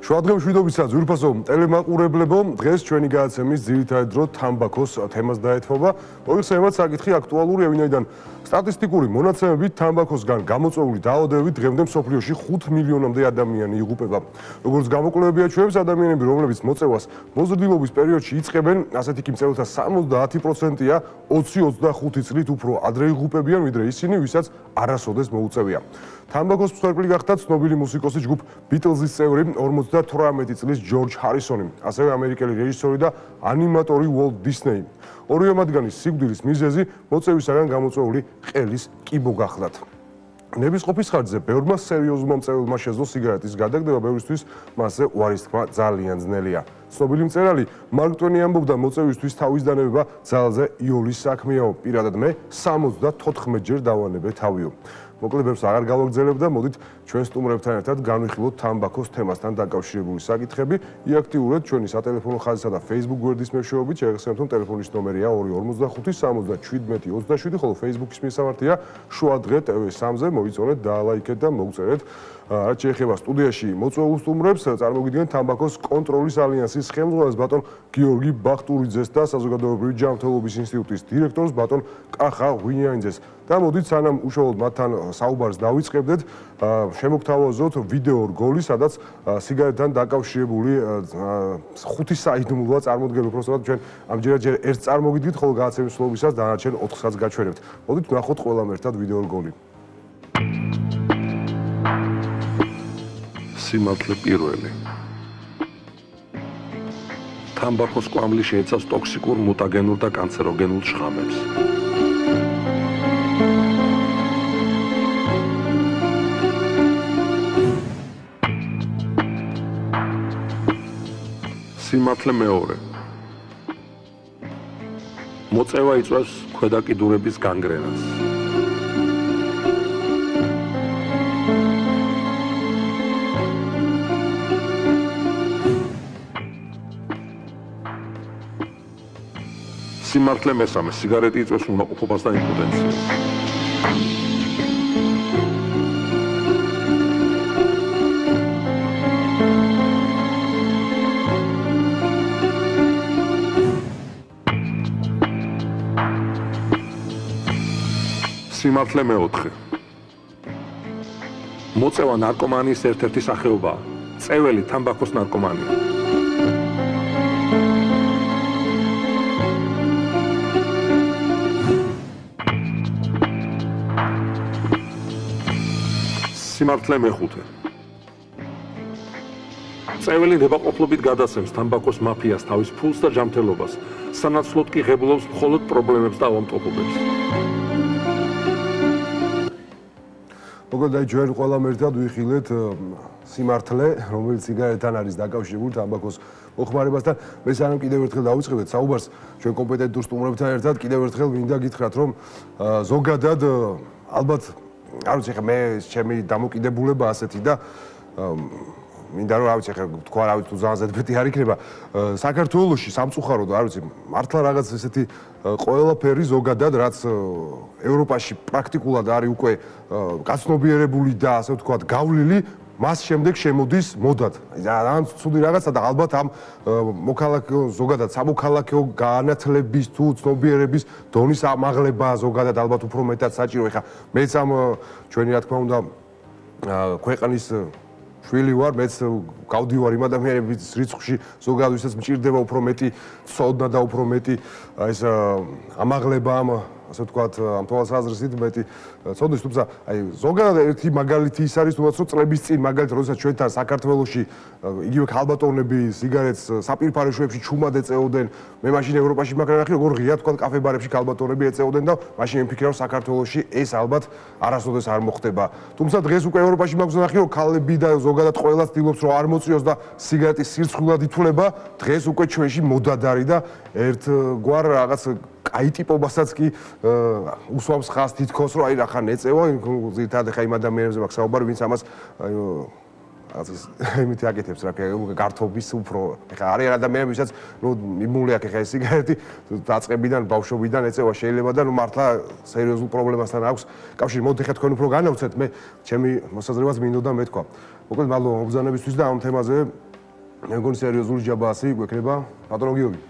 შუადღემ შვიდობისა ძვირფასო ტელემაყურებლებო, დღეს ჩვენი გადაცემის ძირითადი დრო თამბაქოს თემას დაეთმობა. მოიხსენებათ საკითხი აქტუალურია, ვინაიდან სტატისტიკური მონაცემებით თამბაქოსგან გამოწვეული დაავადებებით დღემდე მსოფლიოში 5 მილიონამდე ადამიანი იღუპება. როგორც გამოკვლევები აჩვენებს, ადამიანები, რომლებიც მოწევას მოზრდილობის პერიოდში იწყებენ, ასეთი კი მწევთა 70%-ია 20-25 წლით უფრო ადრე იღუპებიან, ვიდრე ისინი, ვისაც არასოდეს მოუწევია. თამბაქოს მსხვერპლი გახდა ცნობილი მუსიკოსი ჯგუფ ბიტლზის წევრი 58 წლის ჯორჯ ჰარისონი, ასევე ამერიკელი რეჟისორი და ანიმატორი უოლტ დისნეი. ორივე მათგანის სიკვდილის მიზეზი მოწევისაგან გამოწვეული ყელის კიბო გახლდათ. ნებისყოფის ხარჯზე ბევრმა სერიოზულმა მწეველმა შეძლო სიგარეტის გადაგდება, ბევრისთვის მასზე უარის თქმა ძალიან ძნელია. ცნობილი მწერალი მარკ ტვენი ამბობდა, მოწევისთვის თავის დანებება ძალზე იოლის საქმეაო, პირადად მე 74 ჯერ დავანებე თავიო. მოკლებებს აღარ გავაგრძელებ და მოდით ჩვენ სტუმრებთან ერთად განვიხილოთ თამბაქოს თემასთან დაკავშირებული საკითხები. იაქტიურეთ ჩვენი სატელეფონო ხაზისა და Facebook გვერდის მეშვეობით, შეგახსენებთ, რომ ტელეფონის ნომერია 245-77-27, ხოლო Facebook-ის მისამართია შუადღე TV3-ზე, მოიწონეთ, დაალაიქეთ და მოგწერეთ. რაც შეეხება სტუდიაში მოწვეულ სტუმრებს, წარმოგიდგენთ თამბაქოს კონტროლის ალიანსის ხელმძღვანელს ბატონ გიორგი ბახტურიძეს და საზოგადოებრივი ჯანმრთელობის ინსტიტუტის დირექტორს ბატონ კახა ღვინიანიძეს. და მოდით სანამ უშუალოდ მათთან საუბარს დავიწყებდეთ, შემოგთავაზოთ ვიდეო რგოლი, სადაც სიგარეტთან დაკავშირებული 5 საიდუმლოა წარმოდგენილი, უბრალოდ ჩვენ ამჯერად ჯერ ერთ წარმოგიდგით, ხოლო გადაცემის სრულობისას დანარჩენ 4-საც გაჩვენებთ. მოდით ვნახოთ ყველამ ერთად ვიდეო რგოლი. სიმართლე პირველი. თამბაქოს კვამლი შეიცავს ტოქსიკურ, მუტაგენურ და კანცეროგენულ შხამებს. სიმართლე მეორე. მოწევა იწვევს ქვედაკიდურების განგრენას. სიმართლე მესამე, სიგარეტი იწვევს უნაყოფობას და იმპოტენციას. სიმართლე მეოთხე. მოწევა ნარკომანიის ერთ-ერთი სახეობაა. წეველი თამბაქოს ნარკომანია. სიმართლე მეხუთე. წეველი ნებაყოფლობით გადასცემს თამბაქოს მაფიას თავის ფულს და ჯანმრთელობას, სანაცვლოდ კი ღებულობს მხოლოდ პრობლემებს და ავადმყოფობებს. მოკლედ, ჩვენ ყველამ ერთად ვიხილეთ სიმართლე, რომელიც სიგარეტთან არის დაკავშირებული თამბაქოს მოხმარებასთან. მე სანამ კიდევ ერთხელ დავიწყებდეთ საუბარს ჩვენ კომპეტენტურ სტუმრებთან ერთად, კიდევ ერთხელ მინდა გითხრათ, რომ ზოგადად ალბათ არ ვიცი, ხა მე ჩემი დამოკიდებულება ასეთი და მინდა რომ არ ვიცი, ხა თქვა რა ვიცი, თუ ძალიან ზედმეტი არ იქნება. საქართველოში სამწუხაროდ, არ ვიცი, მართლა რაღაც ესეთი ყველაფერი ზოგადად, რაც ევროპაში პრაქტიკულად არის უკვე გაცნობიერებული და ასე ვთქვათ, გავლილი, მას შემდეგ შემოდის მოდად. ძალიან ცუდი რაღაცა და ალბათ ამ მოქალაქე ზოგადად სამოქალაქეო განათლების თუ ცნობიერების დონის ამაღლება ზოგადად ალბათ უფრო მეტად საჭირო. ეხა მეც ამ ჩვენი რა თქმა უნდა ქვეყნის შვილი ვარ, მეც გავდივარ იმ ადამიანების რიცხვში, ზოგადად ვისაც მჭირდება უფრო მეტი ცოდნა და უფრო მეტი ეს ამაღლება ამ ასე ვთქვათ, ამ თვალსაზრისით მეტი ცოდნის, თუმცა აი ზოგადად ერთი მაგალითი ის არის, თუმცა წლების წინ მაგალითად, როდესაც ჩვენთან საქართველოში იგივე ქალბატონები სიგარეტს საპირფარე შუებში ჩუმად ეწეოდნენ, მე მაშინ ევროპაში მაგალითად როგორ ღია თქვა კაფე-ბარებში ქალბატონები ეწეოდნენ და მაშინ მიფიქრე რომ საქართველოში ეს ალბათ არასოდეს არ მოხდება. თუმცა დღეს უკვე ევროპაში მაქვს ნახე რომ ქალები და ზოგადად ყველა ცდილობს რომ არ მოწიოს და სიგარეტის სირცხვილად ითვლება, დღეს უკვე ჩვენში მოდად არის და ერთგვარ რაღაც აი ტიპობასაც კი უსვამს ხას თითქოს რომ აი რა ხან ეწევა, ზირთადად ხა იმ ადამიანებზე მაქვს საუბარი, ვინც ამას იმით აკეთებს რა გართობის უფრო ეხა არის ადამიანები ვისაც ნუ მიმული აქვს ეხა ეს სიგარეტი დაწყებიდან ბავშვობიდან ეწევა შეიძლება და ნუ მართლა სერიოზულ პრობლემასთან აქვს კავშირი მოდი ხა თქვენ უფრო განავცეთ მე ჩემი მოსაზრებას მინდოდა მეთქვა მოკლედ მადლობა მობრძანებისთვის და ამ თემაზე მე მგონი სერიოზული ჯაბასი გვექნება პატრონ გიორგი.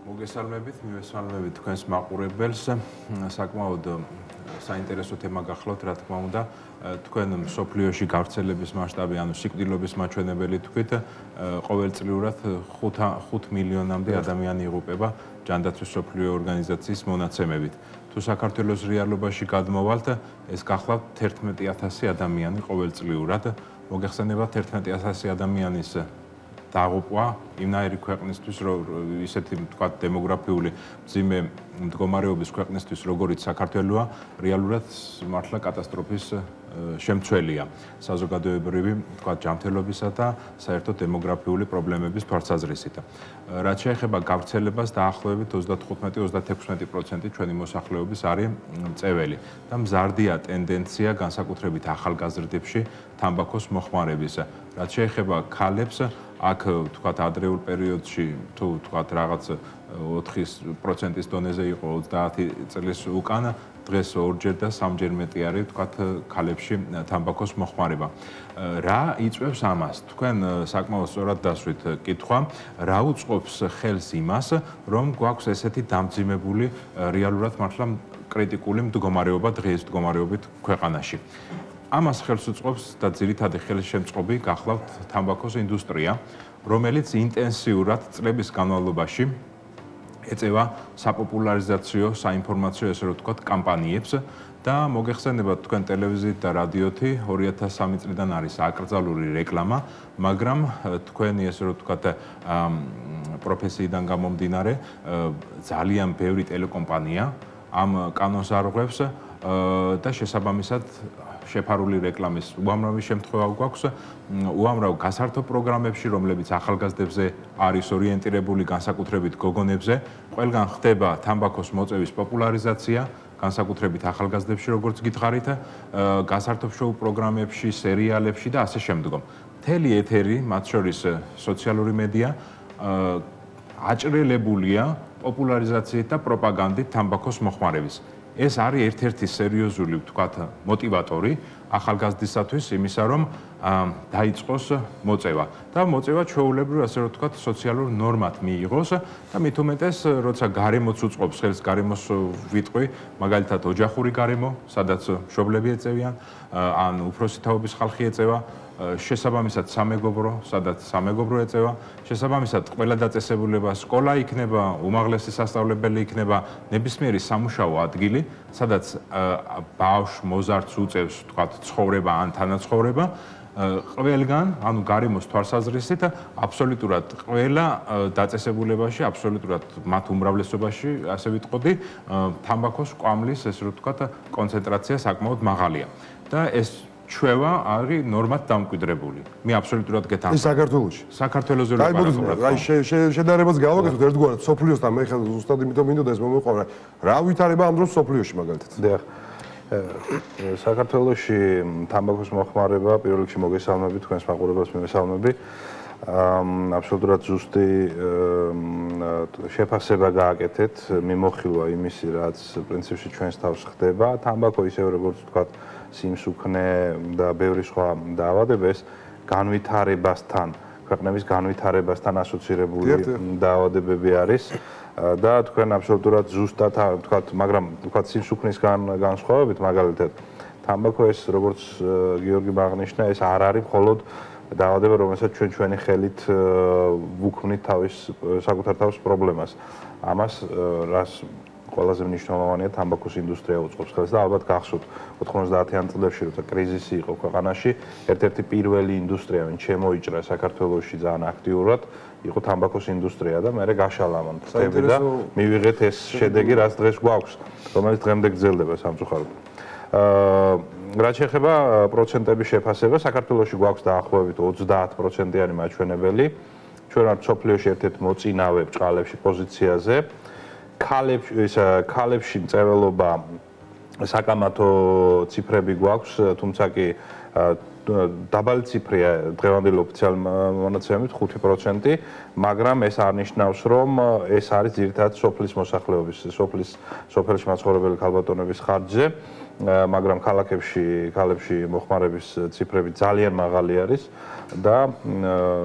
მოგესალმებით, მივესალმებით თქვენს მაყურებელს. საკმაოდ საინტერესო თემა გახლავთ, რა თქმა უნდა. თქვენ მსოფლიოში გავრცელების მასშტაბი, ანუ სიკვდილობის მაჩვენებელი თქვით, ყოველწლიურად 5 მილიონამდე ადამიანი იღუპება ჯანდაცვის მსოფლიო ორგანიზაციის მონაცემებით. თუ საქართველოს რეალობაში გადმოვალთ, ეს გახლავთ 11,000 ადამიანი ყოველწლიურად. მოგეხსენებათ 11,000 ადამიანის დაღუპვა იმნაირი ქვეყნისთვის, ისეთი თქვა დემოგრაფიული მძიმე მდგომარეობის ქვეყნისთვის, როგორიც საქართველოა, რეალურად მართლა კატასტროფის შემცველია საზოგადოებრივი, თქვა ჯანმრთელობისა და საერთოდ დემოგრაფიული პრობლემების თვალსაზრისით. რაც შეეხება გავრცელებას, დაახლოებით 35-36% ჩვენი მოსახლეობის არის მწეველი და მზარდია ტენდენცია განსაკუთრებით ახალგაზრდებში თამბაქოს მოხმარების. რაც შეეხება ქალებს, აქ თქვათ ადრეულ პერიოდში თუ თქვათ რაღაც 4%-ის დონეზე იყო 30 წლის უკან, დღეს 2-ჯერ და 3-ჯერ მეტი არის თქვათ ქალებში თამბაქოს მოხმარება. რა იწვევს ამას? თქვენ საკმაოდ სწორად დასვით კითხვა, რა უწყობს ხელს იმას, რომ გვაქვს ესეთი დამძიმებული რეალურად მართლა კრიტიკული მდგომარეობა დღეის მდგომარეობით ქვეყანაში. ამას ხელს უწყობს და ძირითადი ხელშემწყობი გახლავთ თამბაქოს ინდუსტრია, რომელიც ინტენსიურად წლების განმავლობაში ეწევა საპოპულარიზაციო, საინფორმაციო, ესე რომ ვთქვათ, კამპანიებს და მოგეხსენებათ თქვენ ტელევიზიით და რადიოთი 2003 წლიდან არის აკრძალული რეკლამა, მაგრამ თქვენი ესე რომ ვთქვათ, პროფესიიდან გამომდინარე, ძალიან ბევრი ტელეკომპანია ამ კანონს არღვევს და შესაბამისად შეფარული რეკლამის უამრავი შემთხვევა გვაქვს, უამრავ გასართო პროგრამებში, რომლებიც ახალგაზრდებზე არის ორიენტირებული, განსაკუთრებით გოგონებზე, ყველგან ხდება თამბაქოს მოწევის პოპულარიზაცია, განსაკუთრებით ახალგაზრდებში, როგორც გითხარით, გასართო შოუ პროგრამებში, სერიალებში და ასე შემდგომ. მთელი ეთერი, მათ შორის სოციალური მედია, აჭრელებულია პოპულარიზაციით და პროპაგანდით თამბაქოს მოხმარების. ეს არის ერთ-ერთი სერიოზული, ვთქვათ, მოტივატორი ახალგაზრდისათვის იმისა, რომ დაიწყოს მოწევა და მოწევა ჩვეულებრივ, ასე რომ ვთქვათ, სოციალურ ნორმად მიიღოს და მით უმეტეს, როცა გარემოც უწყობს ხელს, გარემოს ვიტყვი, მაგალითად ოჯახური გარემო, სადაც მშობლები ეწევიან, ან უფროსი თაობის ხალხი ეწევა, შესაბამისად სამეგობრო, სადაც სამეგობრო ეწევა, შესაბამისად ყველა დაწესებულება, სკოლა იქნება, უმაღლესი სასწავლებელი იქნება, ნებისმიერი სამუშაო ადგილი, სადაც ბავშვ მოზარდს უწევს, თქვათ, ცხოვრება ან თანაცხოვრება, ყველგან, ანუ გარემოს თვალსაზრისით, აბსოლუტურად ყველა დაწესებულებაში, აბსოლუტურად მათ უმრავლესობაში, ასე ვიტყოდი, თამბაქოს კვამლის, ესე რომ ვთქვათ, კონცენტრაცია საკმაოდ მაღალია. და ეს ჩვევა არის ნორმად დამკვიდრებული. მე აბსოლუტურად გეთანხმები. ის საქართველოში. საქართველოს აი შედარებას გავაკეთოთ ერთგვარად სოფლიოსთან, მე ხელ ზუსტად იმიტომ მინდოდა ეს მომეყარა. რა ვითარება ამ დროს სოფლიოში მაგალითად? დიახ. საქართველოში თამბაქოს მოხმარება პირველ რიგში მოგესალმები, თქვენს მაყურებელს მივესალმები. აბსოლუტურად ზუსტი შეფასება გააკეთეთ, მიმოხილვა იმისი, რაც პრინციპში ჩვენს თავს ხდება. თამბაქო ისევ როგორც ვთქვათ, სიმსუქნე და ბევრი სხვა დაავადებებს განვითარებასთან, ქვეყნების განვითარებასთან ასოცირებული დაავადებები არის და თქვენ აბსოლუტურად ზუსტად ვთქვათ, მაგრამ ვთქვათ სიმსუქნის განსხვავებით, მაგალითად, თამბაქო ეს როგორც გიორგი აღნიშნა, ეს არ არის მხოლოდ დაავადება, რომელსაც ჩვენი ხელით ვუქმნით საკუთარ თავს პრობლემას. ამას რას ყველაზე მნიშვნელოვანია თამბაქოს ინდუსტრია უწყობს ხელს და ალბათ გახსოვთ 90-იან წლებში როცა კრიზისი იყო ქვეყანაში, ერთ-ერთი პირველი ინდუსტრია, ვინც შემოიჭრა საქართველოში ძალიან აქტიურად, იყო თამბაქოს ინდუსტრია და მე გაშალა ამ თემები და მივიღეთ ეს შედეგი, რაც დღეს გვაქვს, რომელიც დღემდე გრძელდება სამწუხაროდ. რაც შეეხება პროცენტების შეფასება, საქართველოში გვაქვს დაახლოებით 30%-იანი მაჩვენებელი. ჩვენ ვართ მსოფლიოში ერთ-ერთი მოწინავე ბჭყალებში პოზიციაზე. ქალებში მწერლობა საკამათო ციფრები გვაქვს, თუმცა კი დაბალი ციფრია დღევანდელი ოფიციალური მონაცემებით 5%, მაგრამ ეს არნიშნავს, რომ ეს არის ძირითადად სოფლის მოსახლეობის, სოფელში მაცხოვრებელი ქალბატონების ხარჯზე მაგრამ ქალაქებში მოხმარების ციფრები ძალიან მაღალი არის და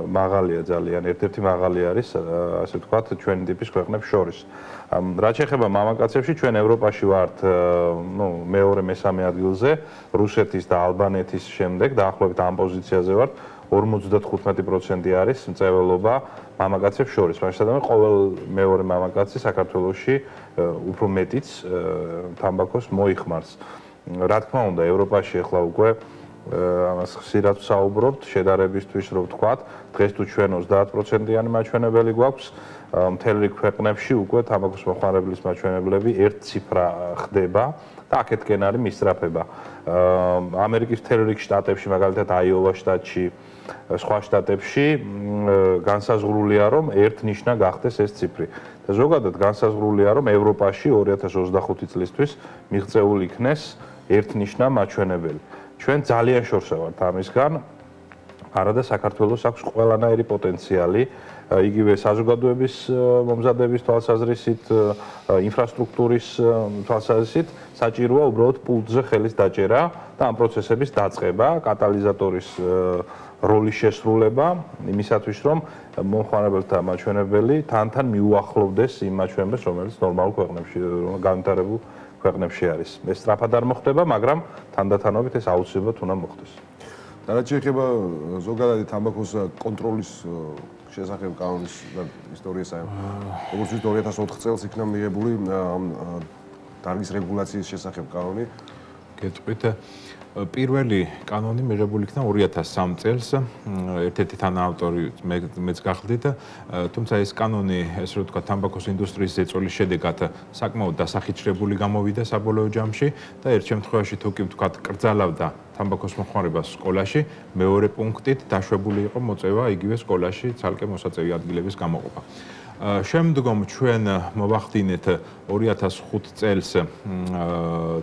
მაღალია ძალიან, ერთ-ერთი მაღალი არის, ასე ვთქვათ, ჩვენი ტიპის ქვეყნებს შორის. რაც შეეხება მამაკაცებში, ჩვენ ევროპაში ვართ, მეორე მესამე ადგილზე, რუსეთის და ალბანეთის შემდეგ, დაახლოებით ამ პოზიციაზე ვართ. 55% არის მწვერვალობა მამაკაცებს შორის. მაშინ ყოველ მეორე მამაკაცი საქართველოში უფრო მეტიც თამბაქოს მოიხმარს. რა თქმა უნდა, ევროპაში ახლა უკვე ამას ხშირად ვსაუბრობთ, შედარებისთვის რო ვთქვათ, დღეს თუ ჩვენ 30%-იანი მაჩვენებელი გვაქვს, მთელ რიგ ქვეყნებში უკვე თამბაქოს მოხმარებლის მაჩვენებლები ერთ ციფრა ხდება და აქეთკენ არის მისწრაფება. ამერიკის მთელ რიგ შტატებში, მაგალითად აიოვა შტატში, სხვა შტატებში განსაზღვრულია, რომ ერთნიშნა გახდეს ეს ციფრი. და ზოგადად განსაზღვრულია, რომ ევროპაში 2025 წლისთვის მიღწეული იქნეს ერთნიშნა მაჩვენებელი. ჩვენ ძალიან შორსა ვართ ამისგან. არადა საქართველოს აქვს ყველანაირი პოტენციალი, იგივე საზოგადოების მომზადების თვალსაზრისით, ინფრასტრუქტურის თვალსაზრისით, საჭიროა უბრალოდ პულტზე ხელის დაჭერა და ამ პროცესების დაწყება, კატალიზატორის როლის შესრულება იმისათვის, რომ მომხმარებელთა მაჩვენებელი თან მიუახლოვდეს იმ მაჩვენებელს, რომელიც ნორმალურ ქვეყნებში, განვითარებულ ქვეყნებში არის. ეს სწრაფად არ მოხდება, მაგრამ თანდათანობით ეს აუცილებლად უნდა მოხდეს. და რაც შეეხება ზოგადად თამბაქოს კონტროლის შესახებ კანონის ისტორიას, როგორც ვთქვით 2004 წელს იქნა მიღებული დარგის რეგულაციის შესახებ კანონი. გეტყვით, პირველი კანონი მიღებული იქნა 2003 წელს, ერთ-ერთი თანაავტორი მეც გახლდით, თუმცა ეს კანონი, ესე რომ ვთქვათ, თამბაქოს ინდუსტრიის ზეწოლის შედეგად საკმაოდ დასახიჩრებული გამოვიდა საბოლოო ჯამში და ერთ შემთხვევაში თუ კი ვთქვათ, კრძალავდა თამბაქოს მოხმარებას სკოლაში, მეორე პუნქტით დაშვებული იყო მოწევა იგივე სკოლაში ცალკე მოსაწევი ადგილების გამოყოფა. შემდგომ ჩვენ მოვახდინეთ 2005 წელს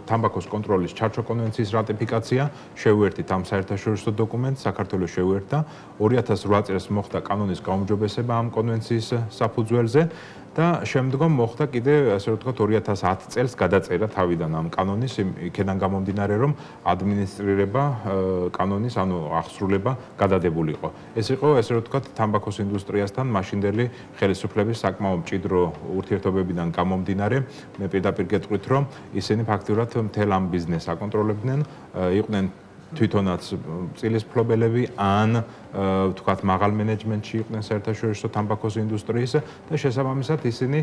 თამბაქოს კონტროლის ჩარჩო კონვენციის რატიფიკაცია, შევერთით ამ საერთაშორისო დოკუმენტს, საქართველოს შევერთდა, 2008 წელს მოხდა კანონის გაუმჯობესება ამ კონვენციის საფუძველზე და შემდგომ მოხდა კიდე, ასე რომ ვთქვათ, 2010 წელს გადაწერა თავიდან ამ კანონის, იქედან გამომდინარე, რომ ადმინისტრირება კანონის, ანუ აღსრულება გადადებულიყო. ეს იყო, ასე რომ ვთქვათ, თამბაქოს ინდუსტრიასთან მაშინდელი ხელისუფლების საკმაოდ მჭიდრო ურთიერთობებიდან გამომდინარე, მე პირდაპირ გეტყვით, რომ ისინი ფაქტურად მთელ ამ ბიზნესს აკონტროლებდნენ, იყვნენ თვითონაც წილის მფლობელები ან ვთქვათ მაღალ მენეჯმენტში იყვნენ საერთაშორისო თამბაქოს ინდუსტრიის და შესაბამისად ისინი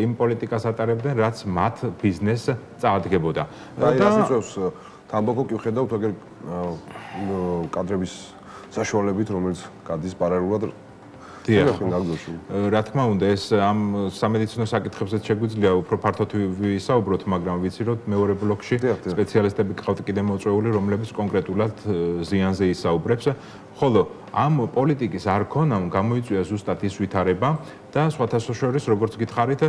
იმ პოლიტიკას ატარებდნენ, რაც მათ ბიზნესს წაადგებოდა. და ასე წევს თამბაქო კი ვხედავთ აგერ კადრების საშუალებით, რომელიც გადის პარალელურად რა თქმა უნდა, ეს ამ სამედიცინო საკითხებზეც შეგვიძლია უფრო ფართოდ ვისაუბროთ, მაგრამ ვიცი, რომ მეორე ბლოკში სპეციალისტები გყავთ კიდე მოწვეული, რომლებიც კონკრეტულად ზიანზე ისაუბრებს, ხოლო ამ პოლიტიკის არ ქონამ გამოიწვია ზუსტად ის ვითარება და სხვათა შორის, როგორც გითხარით,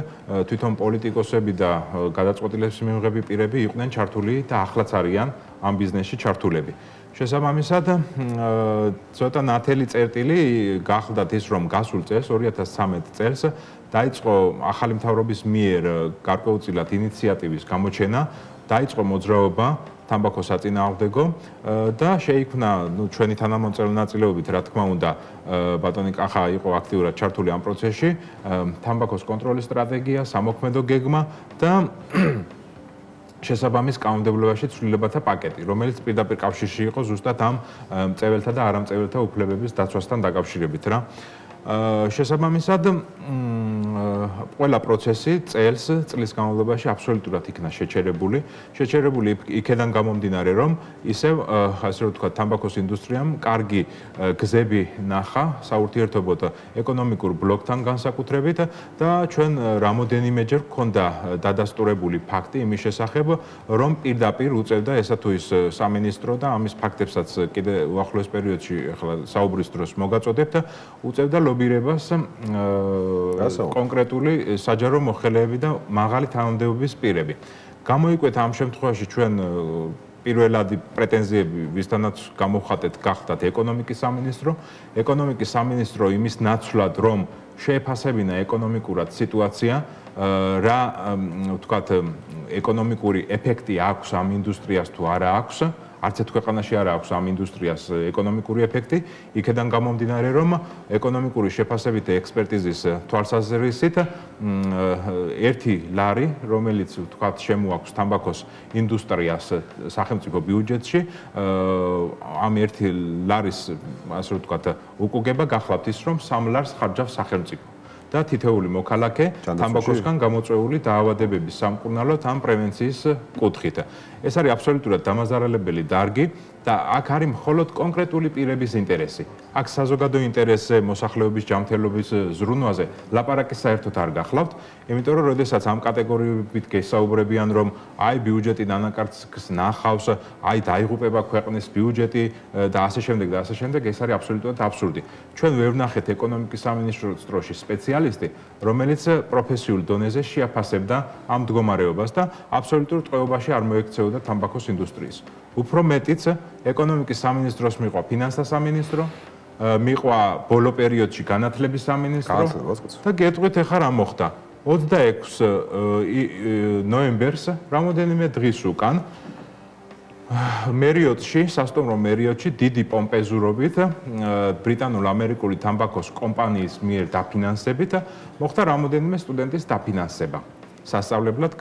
თვითონ პოლიტიკოსები და გადაწყვეტილების მიღები პირები იყვნენ ჩართული და ახლაც არიან ამ ბიზნესში ჩართულები. შესაბამისად, ცოტა ნათელი წერტილი გახლდათ ის, რომ გასულ წელს 2013 წელს დაიწყო ახალი მთავრობის მიერ გარკვეულწილად ინიციატივის გამოჩენა, დაიწყო მოძრაობა თამბაქოს საწინააღმდეგო და შეიქმნა, ჩვენი თანამოწევრე ნაწილეობით, რა თქმა უნდა, ბატონი კახა იყო აქტიურად ჩართული ამ პროცესში, თამბაქოს კონტროლის სტრატეგია, სამოქმედო გეგმა და შესაბამის კანონმდებლობაში ცვლილებათა პაკეტი, რომელიც პირდაპირ კავშირში იყო ზუსტად ამ მწეველთა და არამწეველთა უფლებების დაცვასთან დაკავშირებით რა. შესაბამისად, ყველა პროცესი წლის განმავლობაში აბსოლუტურად იქნა შეჩერებული იქედან გამომდინარე, რომ ისევ, ასე რომ ვთქვათ, თამბაქოს ინდუსტრიამ კარგი გზები ნახა საურთიერთობოდ ეკონომიკურ ბლოკთან განსაკუთრებით და ჩვენ რამოდენიმეჯერ გვქონდა დადასტურებული ფაქტი იმის შესახებ, რომ პირდაპირ უწევდა ესა თუ ის სამინისტრო და ამის ფაქტებსაც კიდე უახლოეს პერიოდში ახლა საუბრის დროს მოგაწოდებთ, უწევდა ლობირებას კონკრეტული საჯარო მოხელეები და მაღალი თანამდებობის პირები. გამოიკვეთა ამ შემთხვევაში ჩვენ პირველადი პრეტენზიები ვისთანაც გამოვხატეთ გახდათ ეკონომიკის სამინისტრო. ეკონომიკის სამინისტრო იმის ნაცვლად, რომ შეეფასებინა ეკონომიკურად სიტუაცია, რა ვთქვათ ეკონომიკური ეფექტი აქვს ამ ინდუსტრიას თუ არა აქვს, არც ერთ ქვეყანაში არ აქვს ამ ინდუსტრიას ეკონომიკური ეფექტი, იქედან გამომდინარე, რომ ეკონომიკური შეფასებითი ექსპერტიზის თვალსაზრისით ერთი ლარი, რომელიც თქვათ შემოაქვს თამბაქოს ინდუსტრიას სახელმწიფო ბიუჯეტში, ამ ერთი ლარის, ასე ვთქვათ, უკუგება გახლავთ ის, რომ 3 ლარს ხარჯავს სახელმწიფო. და თითეული მოქალაქე თამბაქოსგან გამოწვეული დაავადებების სამკურნალოდ ამ პრევენციის კუთხით. ეს არის აბსოლუტურად დამაზარალებელი დარგი და აქ არის მხოლოდ კონკრეტული პირების ინტერესი. აქ საზოგადო ინტერესზე, მოსახლეობის ჯანმრთელობის ზრუნვაზე ლაპარაკი საერთოდ არ გახლავთ, იმიტომ რომ როდესაც ამ კატეგორიებით გესაუბრებიან, რომ აი ბიუჯეტი დანაკარგს ნახავს, აი დაიღუპება ქვეყნის ბიუჯეტი და ასე შემდეგ და ასე შემდეგ, ეს არის აბსოლუტურად აბსურდი. ჩვენ ვერ ვნახეთ ეკონომიკის სამინისტროში სპეციალისტი, რომელიც პროფესიულ დონეზე შეაფასებდა ამ მდგომარეობას და აბსოლუტურ ტყვეობაში არ მოექცეოდა თამბაქოს ინდუსტრიის. უფრო მეტიც, ეკონომიკის სამინისტროს მიყვა ფინანსთა სამინისტრო, მიყვა ბოლო პერიოდში განათლების სამინისტრო და გეტყვით ახლა რა მოხდა. 26 ნოემბერს, რამოდენიმე დღის უკან, მერიოტში, სასტუმრო მერიოტში დიდი პომპეზურობით ბრიტანულ-ამერიკული თამბაქოს კომპანიის მიერ დაფინანსებით მოხდა რამოდენიმე სტუდენტის დაფინანსება სასწავლებლად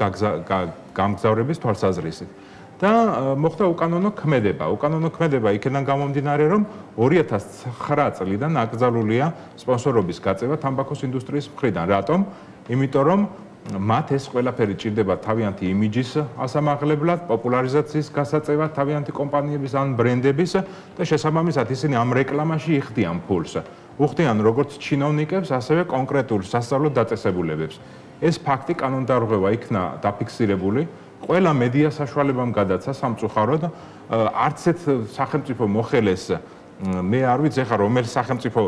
გამგზავრების თვალსაზრისით. და მოხდა უკანონო ქმედება. უკანონო ქმედება იქიდან გამომდინარე, რომ 2009 წლიდან აკრძალულია სპონსორობის გაწევა თამბაქოს ინდუსტრიის მხრიდან. რატომ? იმიტომ რომ მათ ეს ყველაფერი ჭირდება თავიანთი იმიჯის ასამაღლებლად, პოპულარიზაციის გასაწევად თავიანთი კომპანიების ან ბრენდების და შესაბამისად ისინი ამ რეკლამაში იხდიან ფულს. უხდიან როგორც ჩინოვნიკებს, ასევე კონკრეტულ სასწავლო დაწესებულებებს. ეს ფაქტი კანონდარღვევა იქნა დაფიქსირებული. ყველა მედია საშუალებამ გადაცა სამწუხაროდ, არც ერთ სახელმწიფო მოხელეს მე არ ვიცი ახლა რომელ სახელმწიფო